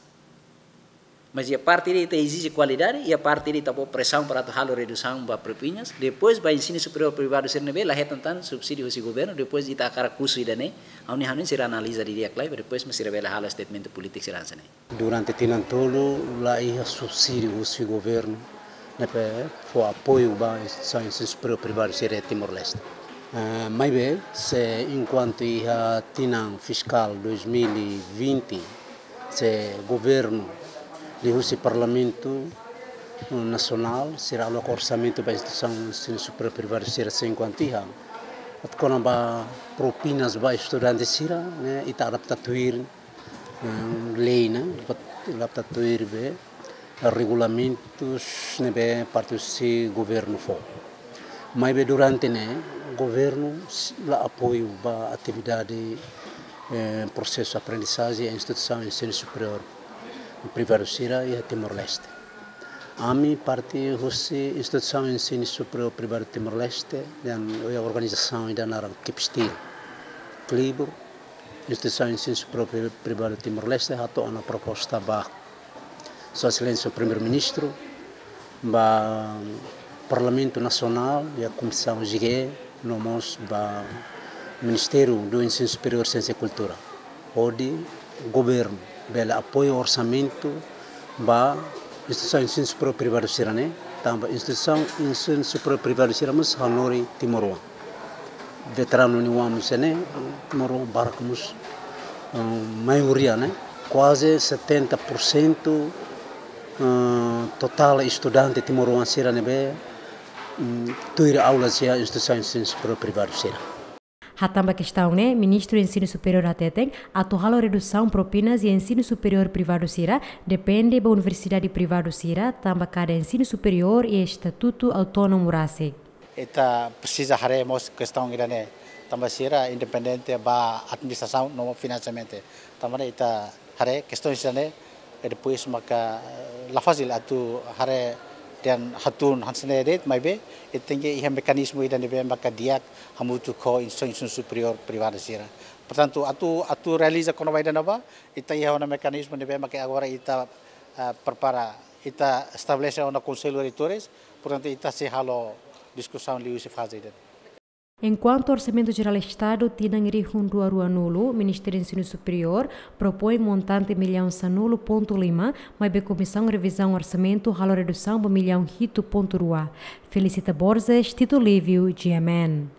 Mas iha parte ida ita ezije kualidade, iha parte ida ita fó presaun para atu halo redusaun ba propinas, depois ba ensinu superiór privadu sira ne'ebé la hetan tan subsídiu husi governu, depois ita hakarak husu ida-ne'e, ha'u-nia hanoin sira analiza didi'ak lai, depois mak sira bele halo statement polítiku sira hanesan ne'e. Durante tinan tolu la iha subsídiu husi governu ne'ebé fó apoiu ba instituisaun ensinu superiór privadu sira iha Timor-Leste. Eh, maibé, se enkuantu iha tinan fiskál dois mil e vinte, se governu liuhusi Parlamentu Nasionál sira aloka orsamentu ba instituisaun ensinu superiór privadu sira, se enkuantu iha. Atu kona-ba propinas ba estudante sira, ne'e, ita adapta tuir eh, lei ne'e, bat-, adapta tuir be regulamentus ne'ebé parte husi governu fó. Maibé durante ne'e, governu s-, la apoiu ba atividade, eh, prosesu aprendizajen iha instituisaun ensinu superiór privadu sira iha Timor-Leste. Ami parte husi instituisaun ensinu superiór privadu Timor-Leste, dehan iha organizasaun ida naran Kipstil. Klibur, instituisaun ensinu superiór pri-, privadu Timor-Leste hato'o ona proposta ba Sua Exelénsia Primeiru-Ministru, ba Parlamentu Nasionál, iha Komisaun G G, no mós ba Ministériu do Ensinu Superiór, Siénsia i Kultura, hodi governu bele apoiu orsamentu ba instituisaun ensinu superiór privadu sira-ne'e, tanba instituisaun ensinu superiór privadu sira mós hanorin timoroan. Veteranu nia oan mós ne'e, timoroan barak mós, eh, maioria, ne'e, kuaze setenta por cento, eh, totál estudante timoroan sira ne'ebé, mm, tuir aulas iha instituisaun ensinu superiór privadu sira. Hatán ba kestaun ne'e, Ministru Ensinu Superiór hateten, atu halo redusaun propinas iha ensinu superiór privadu sira, depende ba universidade privadu sira, tanba kada ensinu superiór iha estatutu autónomu rasik. Ita presiza haree mós kestaun ida-ne'e, tanba sira independente ba administrasaun no finansiamentu. Tanba ne'e ita haree kestaun sira-ne'e, i depois maka, eh, la fasil atu haree dehan hatún hanesan ne'e de'it, maibé ita tenke iha mekanizmu ida ne'ebé maka di'ak hamutuk ho instituisaun superiór privadu sira. Portantu, atu, atu realiza kona-ba ida-ne'ebá, ita iha ona mekanizmu ne'ebé maka agora ita, eh, prepara, ita estabelese ona Konsellu Reitores, portantu, ita sei halo diskusaun liuhusi faze ida. Enkuantu Orsamentu Jerál Estadu tinan rihun rua ruanulu, Ministériu Ensinu Superiór propoin montante millaun sanulu pontu lima, maibé Komisaun Revizaun Orsamentu halo redusaun ba millaun hitu pontu rua. Felicita Borges, Tito Livio, G M N.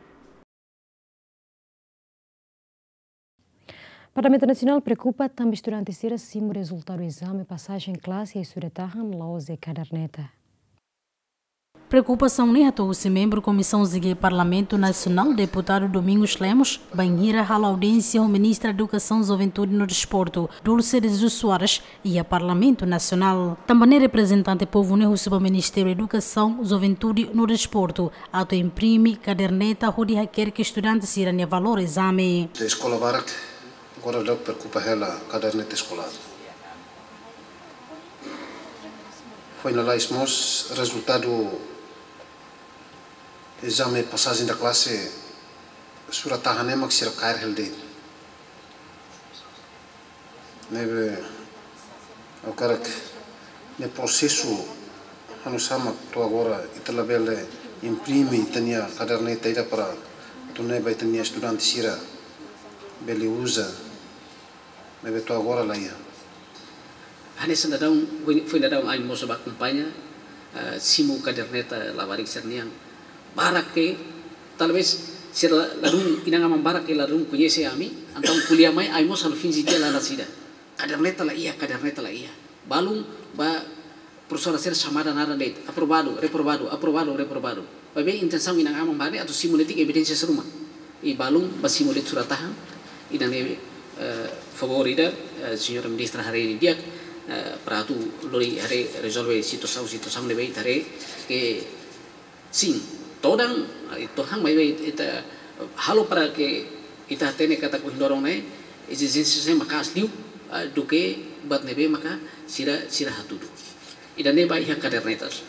Parlamentu Nasionál preokupa tanba estudante sira simu rezultadu ezame pasajen klase iha surat-tahan la'ós iha kaderneta. Preokupasaun ne'e hato'o husi membru Komisaun G G Parlamentu Nasionál, Deputadu Domingos Lemos, bainhira halo audiénsia ho Ministra Edukasaun, Juventude no Desportu, Dulce de Jesus Soares, iha Parlamentu Nasionál. Tanba ne'e reprezentante povu ne'e husu ba Ministériu Edukasaun, Juventude no Desportu atu imprime kaderneta hodi hakerek estudante sira-nia valór ezame. Iha eskola barak agora daudaun preokupa hela kaderneta eskolár. Foin lalais mós rezultadu ezame pasajen da klase surat-tahan ne'e mak sira kaer hela de'it. Ne'ebé ha'u hakarak ne'e prosesu hanusá mak to'o agora ita labele imprime ita-nia kaderneta ida para atu nune'e ba ita-nia estudante sira bele uza. Ne'ebé to'o agora la iha. Hanesan daudaun, foin, foin daudaun ami mós bá akompaña, eh, simu kaderneta labarik sira-nian. Barak ke, talvés sira la, ladún, inan-aman barak ke ladún koñese ami, entaun ko'alia mai, ami mós halo finje tiha la nasida. Kaderneta la iha, kaderneta la iha. Balun ba profesora sira xamada naran de'it, aprovadu, reprovadu, aprovadu, reprovadu. Maibé intensaun inan-aman bá ne'e atu simu de'it evidénsia sira ruma. I balun bá simu de'it surat-tahan, ida-ne'e, eh, favór ida, eh, señora ministra haree di'ak, eh, para atu lori haree rezolve situasaun, situasaun ne'ebé ita haree ke sin, todan, eh, tohan maibé ita halo para ke ita hatene katak ohin loron ne'e ezijénsia sira maka'as liu, eh, duké buat ne'ebé maka sira, sira hatudu. Ida-ne'e ba iha kadernetas.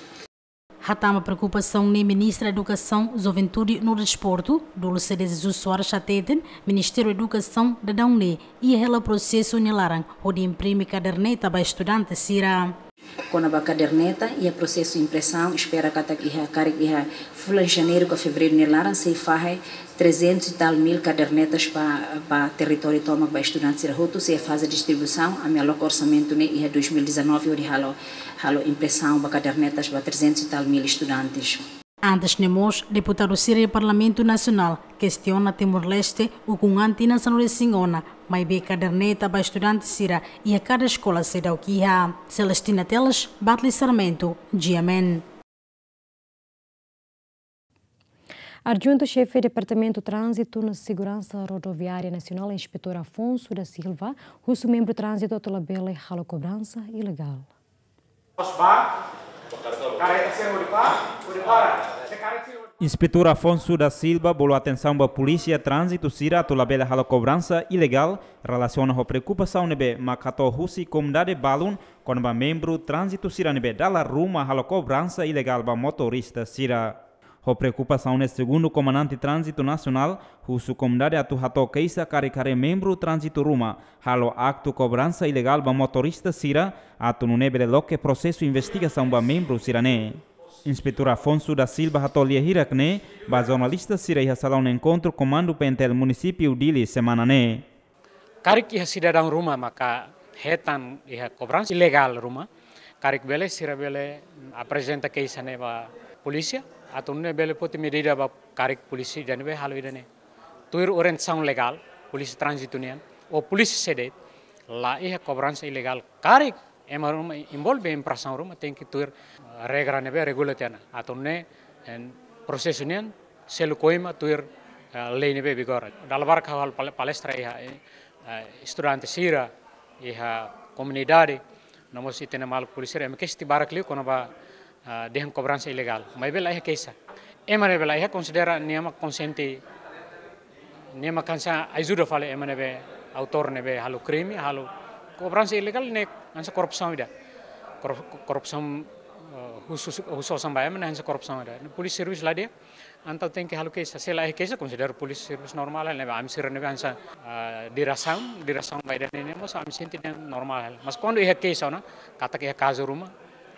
Hatán ba preokupasaun ne'e Ministra Edukasaun, Juventude no Desportu, Dulce de Jesus Soares hateten, Ministériu Edukasaun daudaun ne'e iha hela prosesu nia laran hodi imprime kaderneta ba estudante sira. Kona-ba kaderneta, iha prosesu impresaun, espera katak iha karik iha fulan Janeiru ka Fevereiru nia laran sei fahe trezentos e tal mil kadernetas ba, ba territóriu tomak ba estudante sira hotu, sei faze distribuisaun, ami aloka orsamentu ne'e iha dois mil e dezanove hodi halo, halo impresaun ba kadernetas ba trezentos e tal mil estudantes. Antes ne'e mós, deputadu sira iha Parlamentu Nasionál kestiona Timor-Leste, ukun an tinan sanulu-resin-ona, maibé kaderneta ba estudante sira iha kada eskola seidauk iha. Celestina Teles, Batli Sarmento, G M N. Adjuntu Xefe Departamentu Tránzitu no Seguransa Rodoviária Nasionál, Inspetór Afonso da Silva, husu membru tránzitu atu labele halo kobransa ilegál. Inspetór Afonso da Silva bolu atensaun ba polísia tránzitu sira atu labele halo kobransa ilegál, relasiona ho preokupasaun ne'ebé mak hato'o husi komunidade balun, kona-ba membru tránzitu sira ne'ebé dala ruma halo kobransa ilegál ba motorista sira. Ho preokupasaun ne'e, segundu Komandante Tránzitu Nasionál, husu komunidade atu hato'o keixa karik haree membru tránzitu ruma halo aktu kobransa ilegál ba motorista sira, atu nune'e bele loke prosesu investigasaun ba membru sira-ne'e. Inspetór Afonso da Silva hato'o lia hirak ne'e ba jornalista sira iha salaun enkontru Komandu P N T L Munisípiu Dili semana ne'e. Karik iha sidadaun ruma maka hetan iha kobransa ilegál ruma, karik bele sira bele aprezenta keixa ne'e ba polísia, atu nune'e bele foti medida ba karik polísia ida ne'ebé halo ida-ne'e. Tuir orientasaun legál, polísia tránzitu nian, ou polísia sé de'it, la iha kobransa ilegál karik ema ruma envolve infrasaun ruma tenke tuir, eh, regra ne'ebé regula tiha ona. Atu nune'e, eh, prosesu nian selu koima tuir, eh, lei ne'ebé vigora. Dala barak ha'u halo pal-, palestra iha, eh, eh, estudante sira, iha komunidade, no mós ita-nia maluk polísia sira, ema keixa tiha barak liu kona-ba, eh, dehan kobransa ilegál. Maibé la iha keixa. Ema ne'ebé la iha konsidera nia mak konsiente, nia mak hanesan ajuda fali ema ne'ebé autór ne'ebé halo krime, halo kobransa ilegál ne'e hanesan korrupsaun ida. Korrup-, korrupsaun, eh, husu, husu osan ba ema ne'e hanesan korrupsaun ida. Polísia servisu la di'ak, entaun tenke halo keixa. Se la iha keixa, konsidera polísia servisu normál, ne'ebé ami sira ne'ebé hanesan, eh, diresaun, diresaun ba ida-ne'e mós ami sente dehan normál. Mas kuandu iha keixa ona, katak iha kazu ruma,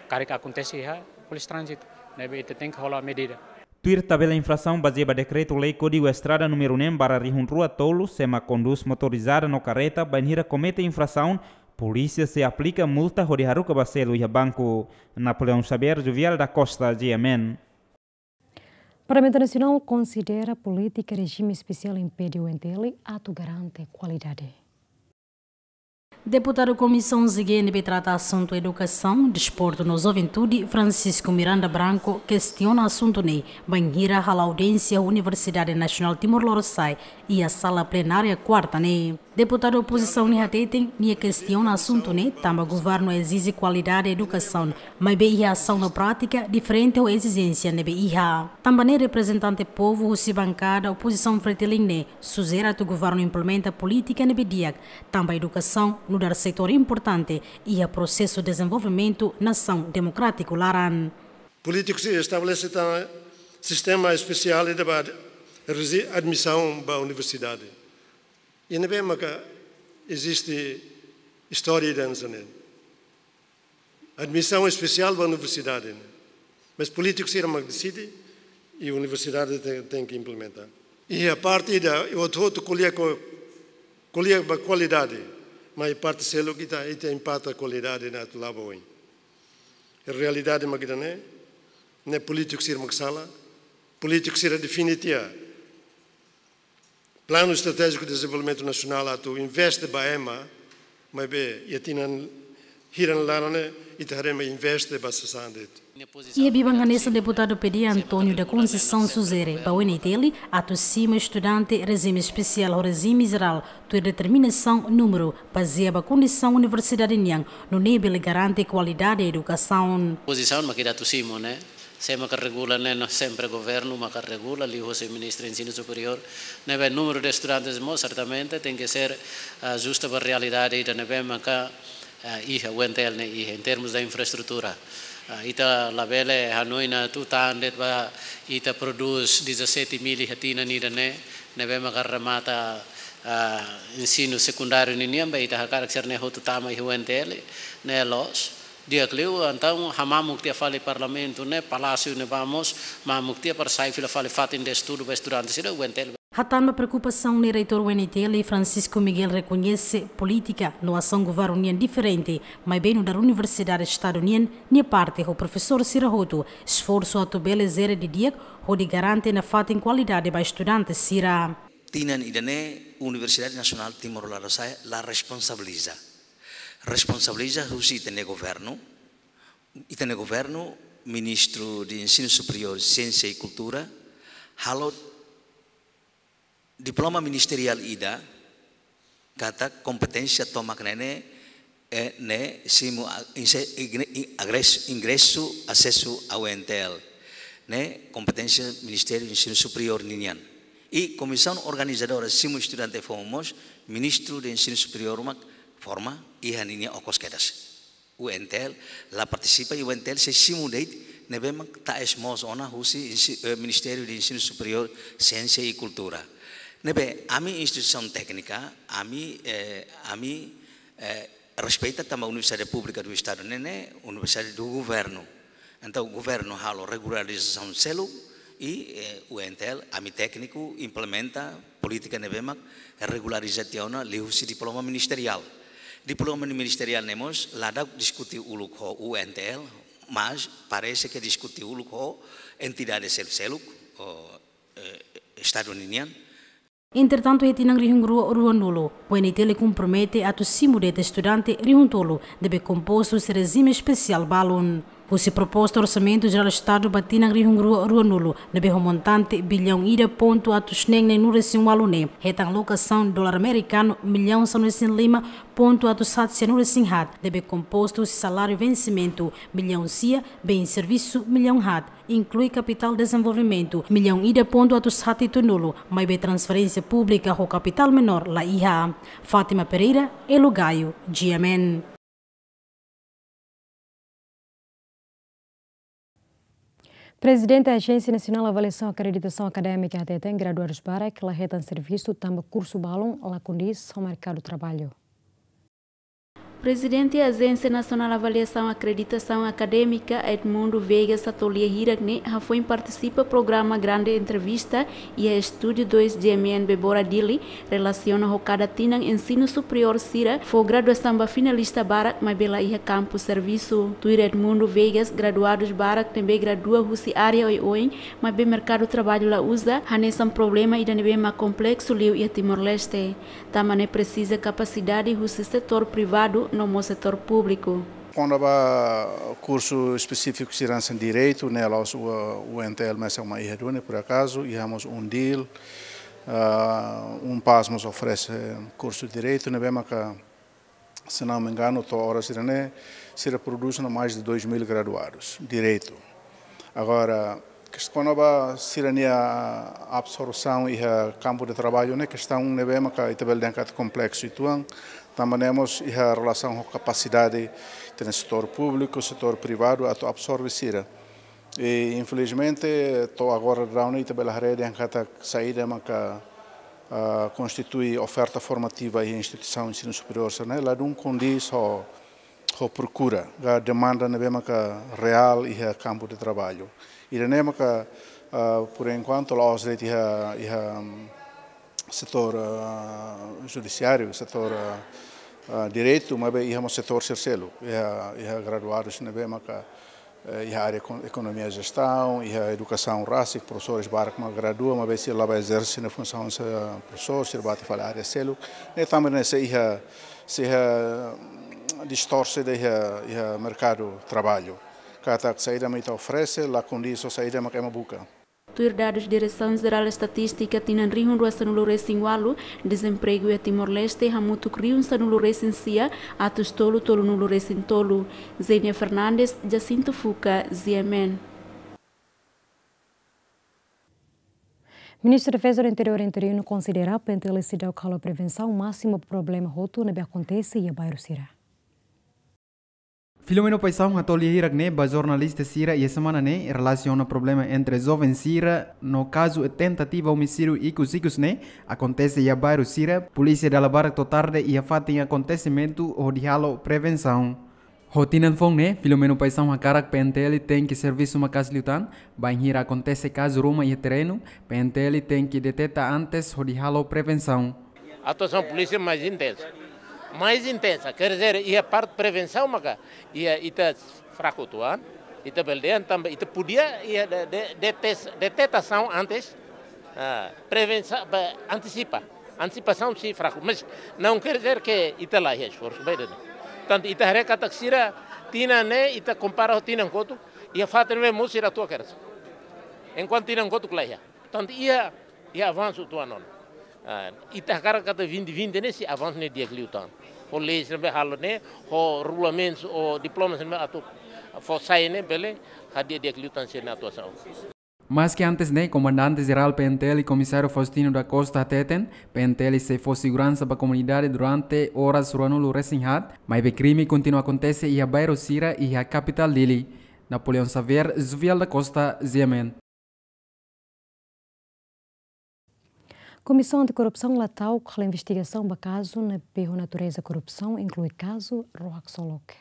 karik akontese iha polísia tránzitu, ne'ebé ita tenke hola medida. Tuir tabela infrasaun bazeia ba dekretu-lei Kódigu Estrada númeru neen barra rihun rua tolu, se ema kondús motorizada no karreta bainhira komete infrasaun, polísia sei aplika multa hodi haruka ba selu iha banku. Napoleão Xavier, Juvial da Costa, G M N. Parlamentu Nasionál konsidera polítika rejime espesiál impede U N T L atu garante kualidade. Deputadu Komisaun Z G ne'ebé trata asuntu edukasaun, desportu no juventude, Francisco Miranda Branco, kestiona asuntu ne'e bainhira hala'o audiénsia Universidade Nasionál Timor Lorosa'e iha sala plenária kuarta ne'e. Deputadu opozisaun ne'e hateten, nia kestiona asuntu ne'e tanba governu ezije kualidade edukasaun, maibé iha asaun no prátika diferente ho ezijénsia ne'ebé iha. Tanba ne'e reprezentante povu husi bankada opozisaun Fretilin ne'e sujere atu governu implementa polítika ne'ebé di'ak, tanba edukasaun nu'udar setór importante iha prosesu dezenvolvimentu nasaun demokrátiku laran. Polítiku sira estabelese tan sistema espesiál ida ba rezi-, admisaun ba universidade. I ne'ebé maka eziste istória ida hanesan ne'e. Admisaun espesiál ba universidade ne'e. Mas polítiku sira mak deside i universidade te-, tenke implementa. I a parte ida, i hotu-hotu ko'alia ko-, ko'alia ba kualidade. Mas parte seluk ita, ita impakta kualidade ne'e atu la'o ba oin. Realidade mak ida-ne'e, ne'e polítiku sira mak sala, polítiku sira define tiha Planu Estratéjiku de Dezenvolvimentu Nasionál atu investe ba ema, maibé iha tinan hirak laran ne'e ita haree ema investe ba sasán de'it. Iha biban hanesan deputadu P D António da Conceição sujere ba U N T L atu simu estudante rejime espesiál ho rejime jerál, tuir determinasaun númeru bazeia ba kondisaun universidade nian, nune'e bele garante kualidade edukasaun. Pozisaun mak ita atu simu ne'e, sé maka regula ne'e, no sempre governu maka regula, liuhosi Ministru Ensinu Superiór, ne'ebé númeru de estudantes mós sertamente tenke ser, ah, ajusta ba realidade ida ne'ebé maka, ah, iha U N T L ne'e iha, em termos de infraestrutura. Ah, ita labele hanoin atu tan de'it ba ita prodús dezassete mil iha tinan ida-ne'e, ne'ebé maka remata, ah, ensinu sekundáriu ninian, ba ita hakarak sira-ne'e hotu tama iha U N T L, ne'e loos. Di'ak liu, entaun, hamamuk tiha fali Parlamentu ne'e, Palásiu ne'ebá mós mamuk tiha para sai fila fali fatin de estudu ba estudante sira U N T L. Hatán ba preokupasaun ne'e, Reitór U N T L, Francisco Miguel, rekoñese polítika no asaun governu nian diferente, maibé nu'udar universidade Estadu nian, nia parte ho profesór sira hotu esforsu atu bele jere didi'ak hodi garante nafatin kualidade ba estudante sira. Tinan ida-ne'e Universidade Nasionál Timor Lorosa'e la responsabiliza. Responsabiliza husi ita-nia governu, ita-nia governu, Ministru de Ensinu Superiór, Siénsia i Kultura, halo diploma ministeriál ida, katak kompeténsia tomak ne'e ne'e, eh, ne'e simu a-, inse-, igne-, i-, agres-, ingresu, asesu a U N T L. Ne'e kompeténsia Ministériu Ensinu Superiór ninian. I komisaun organizadora simu estudante foun mós, Ministru de Ensinu Superiór mak forma, iha ninia okos kedas. U N T L la partisipa, i U N T L sei simu de'it Ne'ebé mak ta'es mós ona husi insi-, eh, Ministériu de Ensinu Superiór, Siénsia i Kultura. Ne'ebé ami instituisaun téknika, ami, eh, ami, eh, respeita tanba Universidade Públika do Estado ne'e, ne'e Universidade do Governo. Entaun, governu halo regularizasaun seluk i, eh, U N T L, ami tékniku implementa polítika ne'ebé mak regulariza tiha ona liuhusi diploma ministeriál. Diploma ministeriál ne'e mós la daudauk diskute uluk ho U N T L, mas parese ke diskute uluk ho entidade seluk-seluk, ho, eh, Estadu ninian. Entretantu, iha tinan rihun rua ruanulu, U N T L kompromete atu simu de'it estudante rihun tolu ne'ebé kompostu husi rejime espesiál balun. Husi proposta Orsamentu Jerál Estadu ba tinan rihun rua ruanulu, ne'ebé ho montante billaun ida pontu atus neen neenulu resin ualu ne'e, hetan alokasaun dolar amerikanu millaun sanulu resin lima pontu atus haat sianulu resin haat, ne'ebé kompostu husi saláriu vensimentu millaun sia, bens servisu millaun haat, inklui kapitál dezenvolvimentu millaun ida pontu atus haat hitunulu, maibé transferénsia públika ho kapitál menór la iha. Fátima Pereira, Elo Gaio, G M N. Prezidente Ajénsia Nasionál Avaliasaun Akreditasaun Akadémika hateten graduadus barak la hetan servisu tanba kursu balun la kondís ho merkadu traballu. Prezidente Ajénsia Nasionál Avaliasaun Akreditasaun Akadémika, Edmundo Veigas, hato'o lia hirak ne'e hafoin partisipa programa Grande Entrevista iha Estúdiu dois G M N Bebora Dili, relasiona ho kada tinan ensinu superiór sira fó graduasaun ba finalista barak maibé la iha kampu servisu. Tuir Edmundo Veigas, graduadus barak ne'ebé gradua husi área oioin, maibé merkadu traballu la uza, hanesan problema ida ne'ebé mak kompleksu liu iha Timor-Leste. Tanba ne'e presiza kapasidade husi setór privadu no mós setór públiku. Kona-ba kursu espesífiku sira hanesan direitu, ne'e la'ós U-, U N T L mesak mak iha duni, por acaso, iha mós UNDIL, ah, UNPAZ mós oferese kursu direitu, ne'ebé maka, se não me engano, to'o oras sira-ne'e, sira prodús ona mais de dois mil graduados, direitu. Agora, kes-, kona-ba sira-nia absorsaun iha kampu de traballu ne'e, kestaun ne'ebé maka ita bele dehan katak kompleksu uitoan, tanba ne'e mós iha relasaun ho kapasidade ita-nia setór públiku, setór privadu atu absorve sira. I, infelizmente, to'o agora daudaun ne'e ita bele haree dehan katak saida maka, ah, konstitui oferta formativa iha instituisaun ensinu superiór sira-ne'e, ladún kondís ho, ho prokura, ka demanda ne'ebé maka reál iha kampu de traballu. Ida-ne'e maka, ah, por enkuantu la'ós de'it iha, iha, mm, setór, ah, judisiáriu, setór, ah, ah, direitu, maibé iha mós setór sira seluk, iha, iha graduadus ne'ebé maka, eh, iha área ekon-, ekonomia jestaun, iha edukasaun rasik, profesores barak mak gradua, maibé sira la bá ezerse nia funsaun hanesan profesór, sira bá atu fali área seluk. Ne'e tanba ne'e sei iha, sei iha, mm, distorse ida iha, iha merkadu traballu. Katak saida mak ita oferese, la kondís ho saida mak ema buka. Tuir dadus Diresaun Jerál Estatístika, tinan rihun rua sanulu resin ualu, dezempregu iha Timor-Leste hamutuk rihun sanulu resin sia atus tolu tolunulu resin tolu. Zenia Fernandes, Jacinto Fuca, G M N. Ministru Defeza no Interiór interinu konsidera PNTL seidauk halo prevensaun másimu ba problema hotu ne'ebé akontese iha bairru sira. Filomeno Paixão hato'o lia hirak ne'e ba jornalista sira iha semana ne'e, relasiona problema entre joven sira no kazu tentativa omisídiu ikus-ikus ne'e akontese iha bairru sira, polísia dala barak to'o tarde iha fatin akontesimentu hodi halo prevensaun. Ho tinan foun ne'e, Filomeno Paixão hakarak PNTL tenke servisu maka'as liután, bainhira akontese kazu ruma iha terrenu, PNTL tenke deteta antes hodi halo prevensaun. Atuasaun polísia mais intensa. Mais intensa, quer dizer, iha parte prevensaun maka iha ita fraku uitoan, ita bele dehan tanba ita podia iha de, de, detes-, detetasaun antes, ah, prevensa-, ba, antisipa. Antisipasaun sei fraku, mas não quer dizer que ita la iha esforsu ba ida-ne'e. Portantu, ita haree katak sira tinan ne'e, ita kompara ho tinan kotuk, iha fatin ne'ebé mós sira atu keras. Enkuantu tinan kotuk la iha. Portantu, iha, iha avansu uitoan ona. Ah, ita hakarak katak vinte vinte ne'e sei avansu ne'e di'ak liután. Ho leis ne'ebé halo ne'e, ho regulamentus, ho diplomas ne'ebé atu fó sai ne'e, bele hadi'a di'ak liután sira-nia atuasaun. Maske antes ne'e, Komandante Jerál PNTL Komisáriu Faustino da Costa hateten, PNTL sei fó seguransa ba komunidade durante oras ruanulu resin haat, maibé krime kontinua akontese iha bairru sira iha kapitál Dili. Napoleão Xavier, Zuviel da Costa, G M N. Komisaun Antikorrupsaun la ta'uk halo investigasaun ba kazu ne'ebé ho natureza korrupsaun, inklui kazu ró haksolok.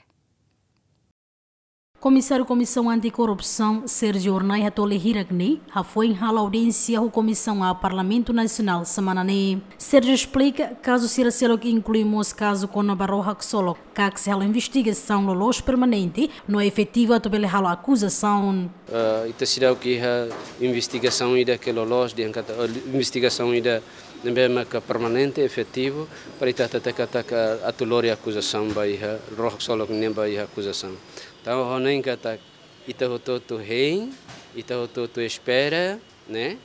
Komisáriu Komisaun Antikorrupsaun, Sérgio Hornai, hato'o lia hirak ne'e hafoin halo audiénsia ho Komisaun A Parlamentu Nasionál semana ne'e. Sérgio esplika, kazu sira seluk inklui mós kazu kona-ba ró haksolok, katak sei halo investigasaun loloos, permanente no efetivu atu bele halo akuzasaun. Eh, ita seidauk iha investigasaun ida ke loloos, dehan katak, eh, investigasaun ida ne'ebé maka permanente, efetivu, para ita hatete katak, eh, atu lori akuzasaun ba iha, ró haksolok nian ba iha akuzasaun. Entaun, ha'u hanoin katak ita hotu-hotu hein, ita hotu-hotu espera, ne'e,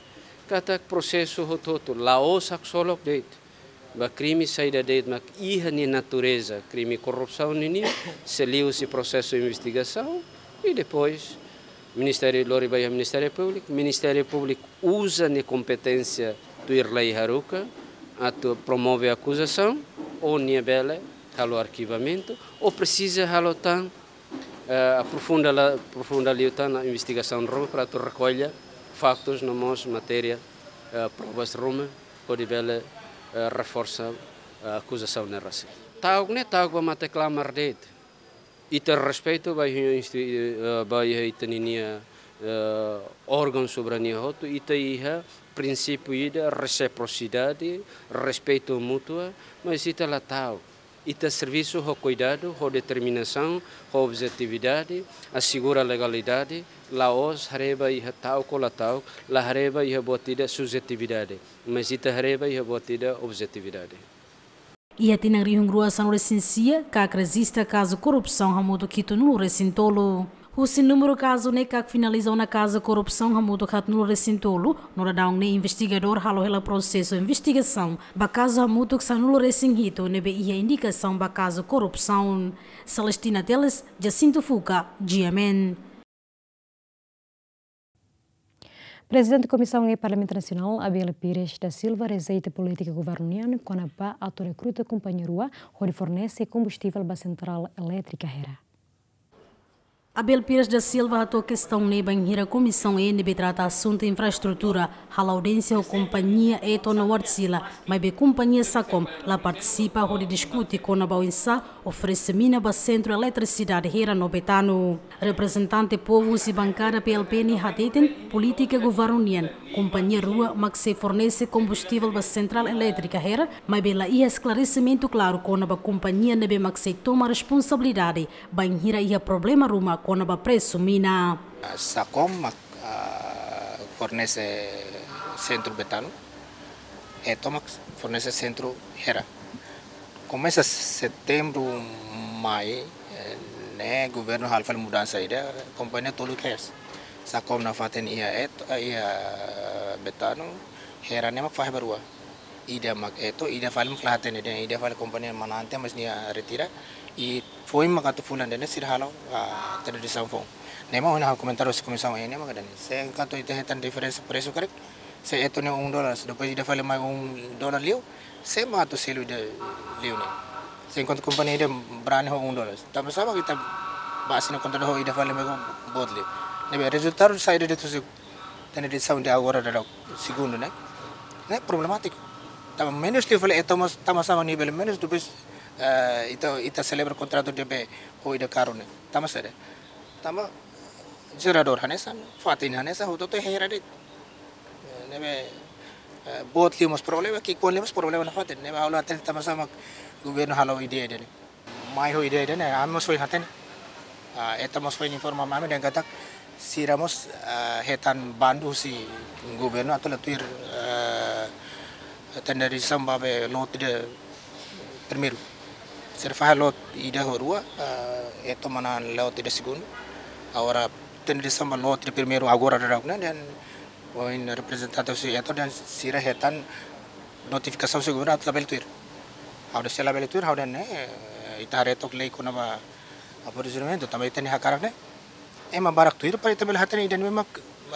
katak prosesu hotu-hotu, la'ós haksolok de'it. Ba krime saida de'it mak iha nia natureza krime korrupsaun nian, sei liuhusi prosesu investigasaun, i depois Ministériu lori ba iha Ministériu Públiku, Ministériu Públiku uza nia kompeténsia tuir lei haruka atu promove akuzasaun, ou nia bele halo arkivamentu, ou presiza halo tan, eh, aprofunda la, aprofunda liután ona investigasaun ruma para atu rekolla faktus no mós matéria, eh, provas ruma hodi bele, eh, reforsa, eh, akuzasaun ne'e rasik. Ta'uk ne'e ta'uk ba mate-klamar de'it. Ita respeitu ba iha insti-, eh, ba iha ita ninia, eh, órgaun soberania hotu, ita iha prinsípiu ida resiprosidade, respeitu mútua, mas ita la ta'uk. Ita servisu ho kuidadu, ho determinasaun, ho objetividade, asegura legalidade, la'ós haree ba iha ta'uk ou la ta'uk, la haree ba iha buat ida subjetividade, mas ita haree ba iha buat ida objetividade. Iha tinan rihun rua sanulu-resin-sia, katak rejista kazu korrupsaun hamutuk hitunulu-resin-tolu. Husi númeru kazu ne'e katak finaliza ona kazu korrupsaun hamutuk haatnulu-resin-tolu, no daudaun ne'e investigadór halo hela prosesu investigasaun ba kazu hamutuk sanulu-resin-hitu ne'ebé iha indikasaun ba kazu korrupsaun. Celestina Teles, Jacinto Fuca, G M N. Prezidente Komisaun E Parlamentu Nasionál, Abel Pires da Silva, rejeita polítika governu nian kona-ba atu rekruta kompañia rua hodi fornese kombustivel ba sentrál elétrika Hera. Abel Pires da Silva hato'o kestaun ne'e bainhira Komisaun E ne'ebé trata asuntu infraestrutura halo audiénsia ho kompañia Eto ona Wärtsilä, maibé kompañia SACOM la partisipa hodi diskute kona-ba oinsá oferese mina ba sentru eletrisidade Hera no Betano. Reprezentante povu husi bankada P L P ne'e hateten, polítika governu nian, kompañia rua mak sei fornese kombustivel ba sentrál elétrika Hera, maibé la iha esklaresimentu klaru kona-ba kompañia ne'ebé mak sei toma responsabilidade bainhira iha problema ruma kona-ba presu mina. SACOM mak, ah, fornese sentru Betano, Eto mak fornese sentru Hera. Komesa setembru, mai, eh, ne'e governu halo fali mudansa ida, kompañia tolu kedas. SACOM nafatin iha Eto, eh, iha Betano, Hera ne'e mak fahe ba rua. Ida mak Eto, ida fali mak la hatene dehan, ida fali kompañia manante, mas nia retira. I foin mak atu fulan ida-ne'e sira halo, ah, tradisaun foun. Ne'e mak ohin ha'u komentáriu husi Komisaun E ne'e mak dehan. Se enkuantu ita hetan diferensa presu karik, se Eto ne'e um dólar, depois ida fali mai um dólar liu, sé mak atu selu ida liu ne'e? Se enkuantu kompañia ida brani ho um dólar. Tanba sá mak ita ba asina kontratu ho ida fali mai boot liu? Ne'ebé rezultadu saida de'it husi tradisaun de agora daudaun segundu ne'e? Ne'e problemátiku. Tanba menus liu fali Eto mós, tanba sá mak nia bele menus, depois, eh, ita, ita selebra kontratu de'it ho ida karu ne'e. Tanba saida? Tanba jeradór hanesan, fatin hanesan, hotu-hotu Hera de'it. Ne'ebé, eh, boot liu mós problema, ki'ikoan liu mós problema nafatin. Ne'ebé ha'u la hatene tanba sá mak governu halo ideia ida-ne'e. Mai ho ideia ida-ne'e, ami mós foin hatene. Ah, Eto mós foin informa ami dehan katak sira mós, ah, hetan bandu husi governu atu la tuir, eh, tenderizasaun ba be lote ida primeiru. Sira fahe lote ida ho rua, eh, Eto manán lote ida segundu. Agora tenderizasaun ba lote ida primeiru agora daudaun ne'e, dehan ohin reprezentante husi Eto dehan sira hetan notifikasaun husi governu atu labele tuir. Ha'u dehan se labele tuir, ha'u dehan ne'e, eh, ita haree took lei kona-ba aprovisionamentu, tanba ita-nia hakarak ne'e ema barak tuir para ita bele hatene ida-ne'ebé mak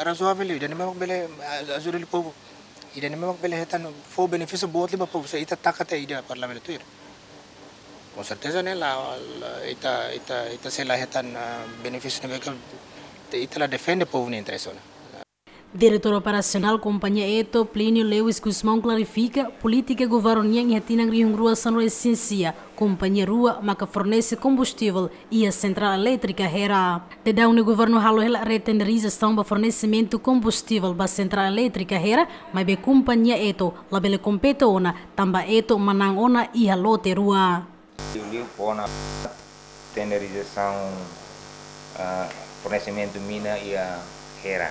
razoável, ida-ne'ebé mak bele, ah, ajuda povu. Ida-ne'ebé mak bele hetan fó benefísiu boot liu ba povu, se ita taka tiha ida para labele tuir. Com certeza ne'e la, la, ita, ita, ita sei la hetan, ah, benefísiu ne'ebé ke Ita la defende povu nia interese ona. Diretór Operasionál Kompañia Eto, Plínio Lewis Gusmão, klarifika polítika governu nian iha tinan rihun rua sanulu-resin-sia, kompañia rua maka fornese kombustivel iha sentrál elétrika Hera. Daudaun ne'e governu halo hela retenderizasaun ba fornesimentu kombustivel ba sentrál elétrika Hera, maibé kompañia Eto labele kompete ona, tanba Eto manán ona iha lote rua. Liuliu fó ona tenderizasaun, ah, fornesimentu mina iha Hera.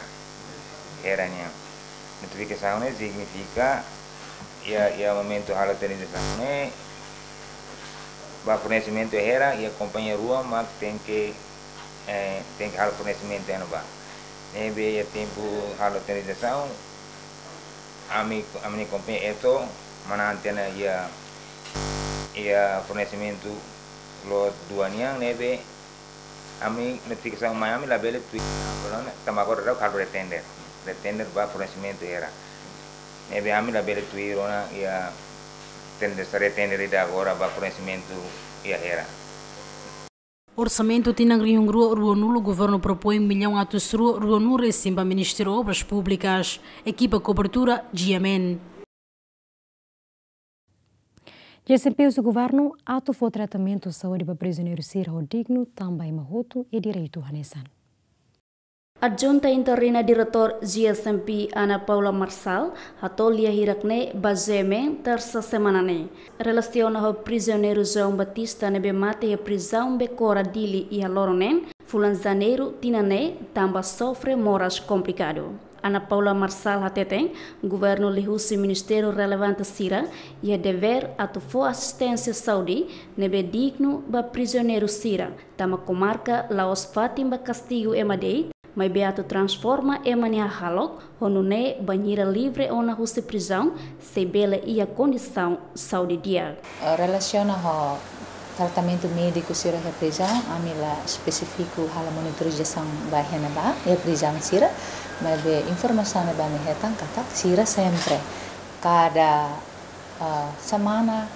Hera nian. Notifikasaun ne'e signifika iha, iha momentu halo tenderizasaun ne'e, ba fornesimentu Hera, iha kompañia rua mak tenke, eh, tenke halo fornesimentu iha ne'ebá. Ne'ebé iha tempu halo tenderizasaun, ami, ami-nia kompañia Eto manán tiha ona iha, iha fornesimentu lot dua nian, ne'ebé ami notifikasaun mai ami labele tuir, tanba agora daudaun halo retender, retender ba fornesimentu Hera. Ne'ebé ami labele tuir ona iha tender, retender ida agora ba fornesimentu iha Hera. Orsamentu tinan rihun rua ruanulu, governu propoin millaun atus rua ruanulu-resin ba Ministériu Obras Públikas. Ekipa kobertura, G M N. G S M P husu governu atu fó tratamentu saúde ba prizioneiru sira ho dignu, tanba ema hotu iha direitu hanesan. Adjunta interina Diretór G S M P Ana Paula Marçal hato'o lia hirak ne'e ba G M N Tersa semana ne'e. Relasiona ho prizioneiru João Batista ne'ebé mate iha prizaun Becora Dili iha loron neen, fulan Janeiru tinan ne'e, tanba sofre moras komplikadu. Ana Paula Marçal hateten, governu liuhusi ministériu relevante sira iha devér atu fó asisténsia saúde ne'ebé dignu ba prizioneiru sira, tanba komarka la'ós fatin ba kastigu ema de'it, maibé atu transforma ema nia hahalok, ho nune'e bainhira livre ona husi prizaun, sei bele iha kondisaun saúde di'ak. Eh, relasiona ho tratamentu médiku sira iha prizaun, ami la espesífiku halo monitorizasaun ba iha ne'ebá, iha prizaun sira, maibé informasaun ne'ebé ami hetan katak sira sempre, kada, eh, semana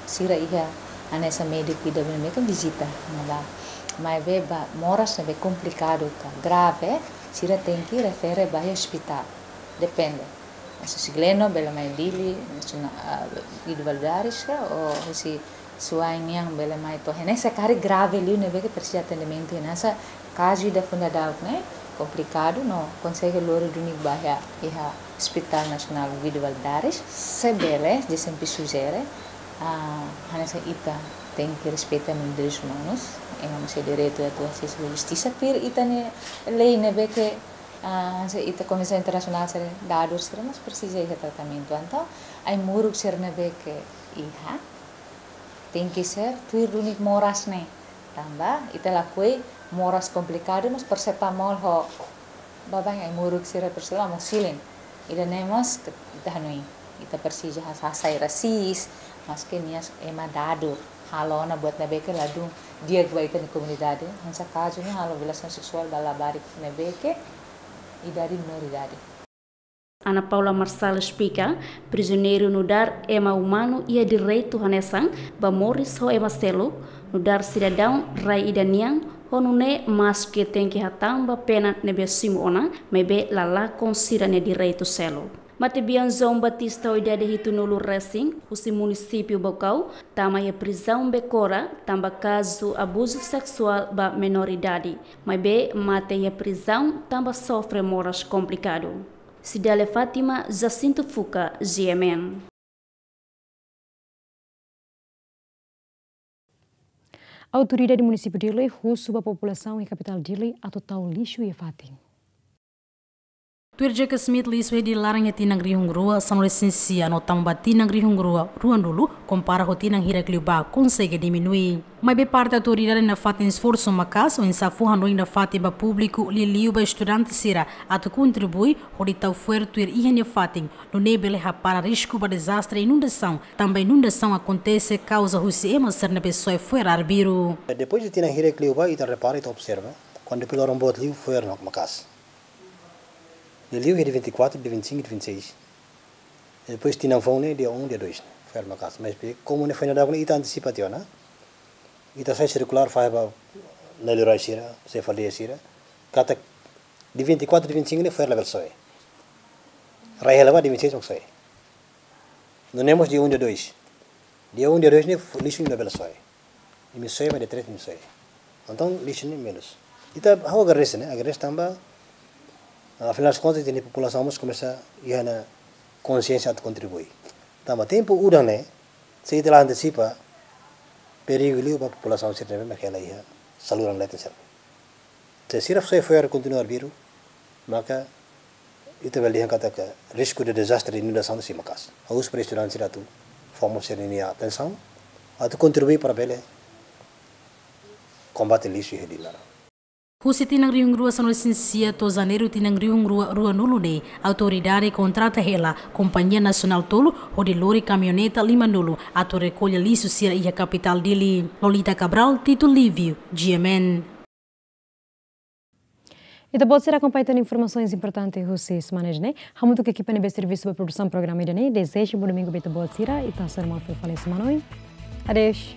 sira iha hanesan médiku ida ne'ebé vizita iha ne'ebá. Maibé ba moras ne'ebé komplikadu ka grave, sira tenke refere ba iha ospitál. Depende. Husi Gleno bele mai Dili, husi na, ah, Guido Valadares ka, ou husi Suai nian bele mai to'o iha ne'e, se karik grave liu ne'ebé ke presiza atendimentu iha ne'e, se kazu ida funda daudauk ne'e, komplikadu, no konsege lori duni ba iha, iha Hospital Nasionál Guido Valadares, se bele, G S M P sujere, ah, hanesan ita tenke respeita direitus umanus, ema mós iha direitu atu asesu ba justisa, tuir ita-nia lei ne'ebé ke, ah, se ita konvensaun internasionál sira dadur sira mós presiza iha tratamentu. Entaun, ai-moruk sira ne'ebé ke iha, tenke ser tuir duni moras ne'e. Tanba, ita lakohi moras komplikadu, mas parasetamol ho baibain ai-moruk sira, parasetamol, amoxicilina. Ida-ne'e mós ke ita hanoin. Ita presiza has-, hasai rasik, maske nia ema dadur. Halo ona buat ne'ebé ke ladún di'ak ba ita-nia komunidade. Hanesan kazu ne'e halo violasaun seksuál ba labarik ne'ebé ke idade menoridade. Ana Paula Marçal esplika, prizioneiru nu'udar ema umanu iha direitu hanesan ba moris ho ema seluk, nu'udar sidadaun rai ida nian, ho nune'e maske tenke hatán ba pena ne'ebé simu ona, maibé la lakon sira-nia direitu seluk. Matebian João Batista ho idade hitunulu resin, husi munisípiu Baucau, tama iha prizaun Becora, tanba kazu abuzu seksuál ba menoridade. Maibé mate iha prizaun, tanba sofre moras komplikadu. Cidália Fátima, Jacinto Fuca, G M N. Autoridade Munisípiu Dili husu ba populasaun iha kapitál Dili atu tau lixu iha fatin. Tuir Jack Smith, lixu iha Dili laran iha tinan rihun rua sanulu-resin-sia no tama ba tinan rihun rua ruanulu, kompara ho tinan hirak liubá, konsege diminui. Maibé parte autoridade nafatin esforsu maka'as oinsá fó hanoin nafatin ba públiku, liuliu ba estudante sira, atu kontribui hodi tau fo'er tuir iha nia fatin, nune'e bele hapara risku ba dezastre inundasaun, tanba inundasaun akontese kauza husi ema sira ne'ebé soe fo'er arbiru. Depois de tinan hirak liubá, ita repara, ita observa, kuandu depois loron boot liu fo'er mak maka'as. Liuliu iha dia vinte e quatro, dia vinte e cinco, dia vinte e seis. Depois tinan foun ne'e dia um, dia dois, fo'er maka'as. Maibé komu ne'e foin daudauk ne'e ita antisipa tiha ona. Ita sai sirkulár fahe ba na'in-luan sira, se fali sira. Katak Dia vinte e quatro, dia vinte e cinco ne'e fo'er labele soe. Rai hela ba dia vinte e seis mak soe. Nune'e mós dia um, dia dois. Dia um, dia dois ne'e fo-, lixu ne'e labele soe. Imi soe, mas dia três imi soe. Entaun lixu ne'e menus. Ita, ha'u agradese, ne'e? Agradese tanba, afinál de contas, ita-nia populasaun mós komesa iha ona konxiénsia atu kontribui. Tanba tempu udan ne'e, se ita la antesipa, perigu liu ba populasaun sira ne'ebé mak hela iha saluran leten sira. Se sira soe fo'er kontinua arbiru, maka ita bele dehan katak risku de dezastre, inundasaun sei maka'as. Ha'u husu ba estudante sira atu fó mós sira-nia atensaun, atu kontribui para bele kombate lixu iha rai-laran. Husi tinan rihun rua sanulu-resin-sia to'o Janeiru tinan rihun rua ruanulu ne'e, autoridade kontrata hela kompañia nasionál tolu hodi lori kamioneta limanulu atu rekolla lixu sira iha kapitál Dili. Lolita Cabral, Tito Livio, G M N. Ita-boot sira akompaña tan informasaun importante husi semana ida-ne'e. Hamutuk ho ekipa ne'ebé servisu ba produsaun programa ida-ne'e, dezeja bom domingu ba ita-boot sira, ita hasoru malu fali semana oin. Adeus.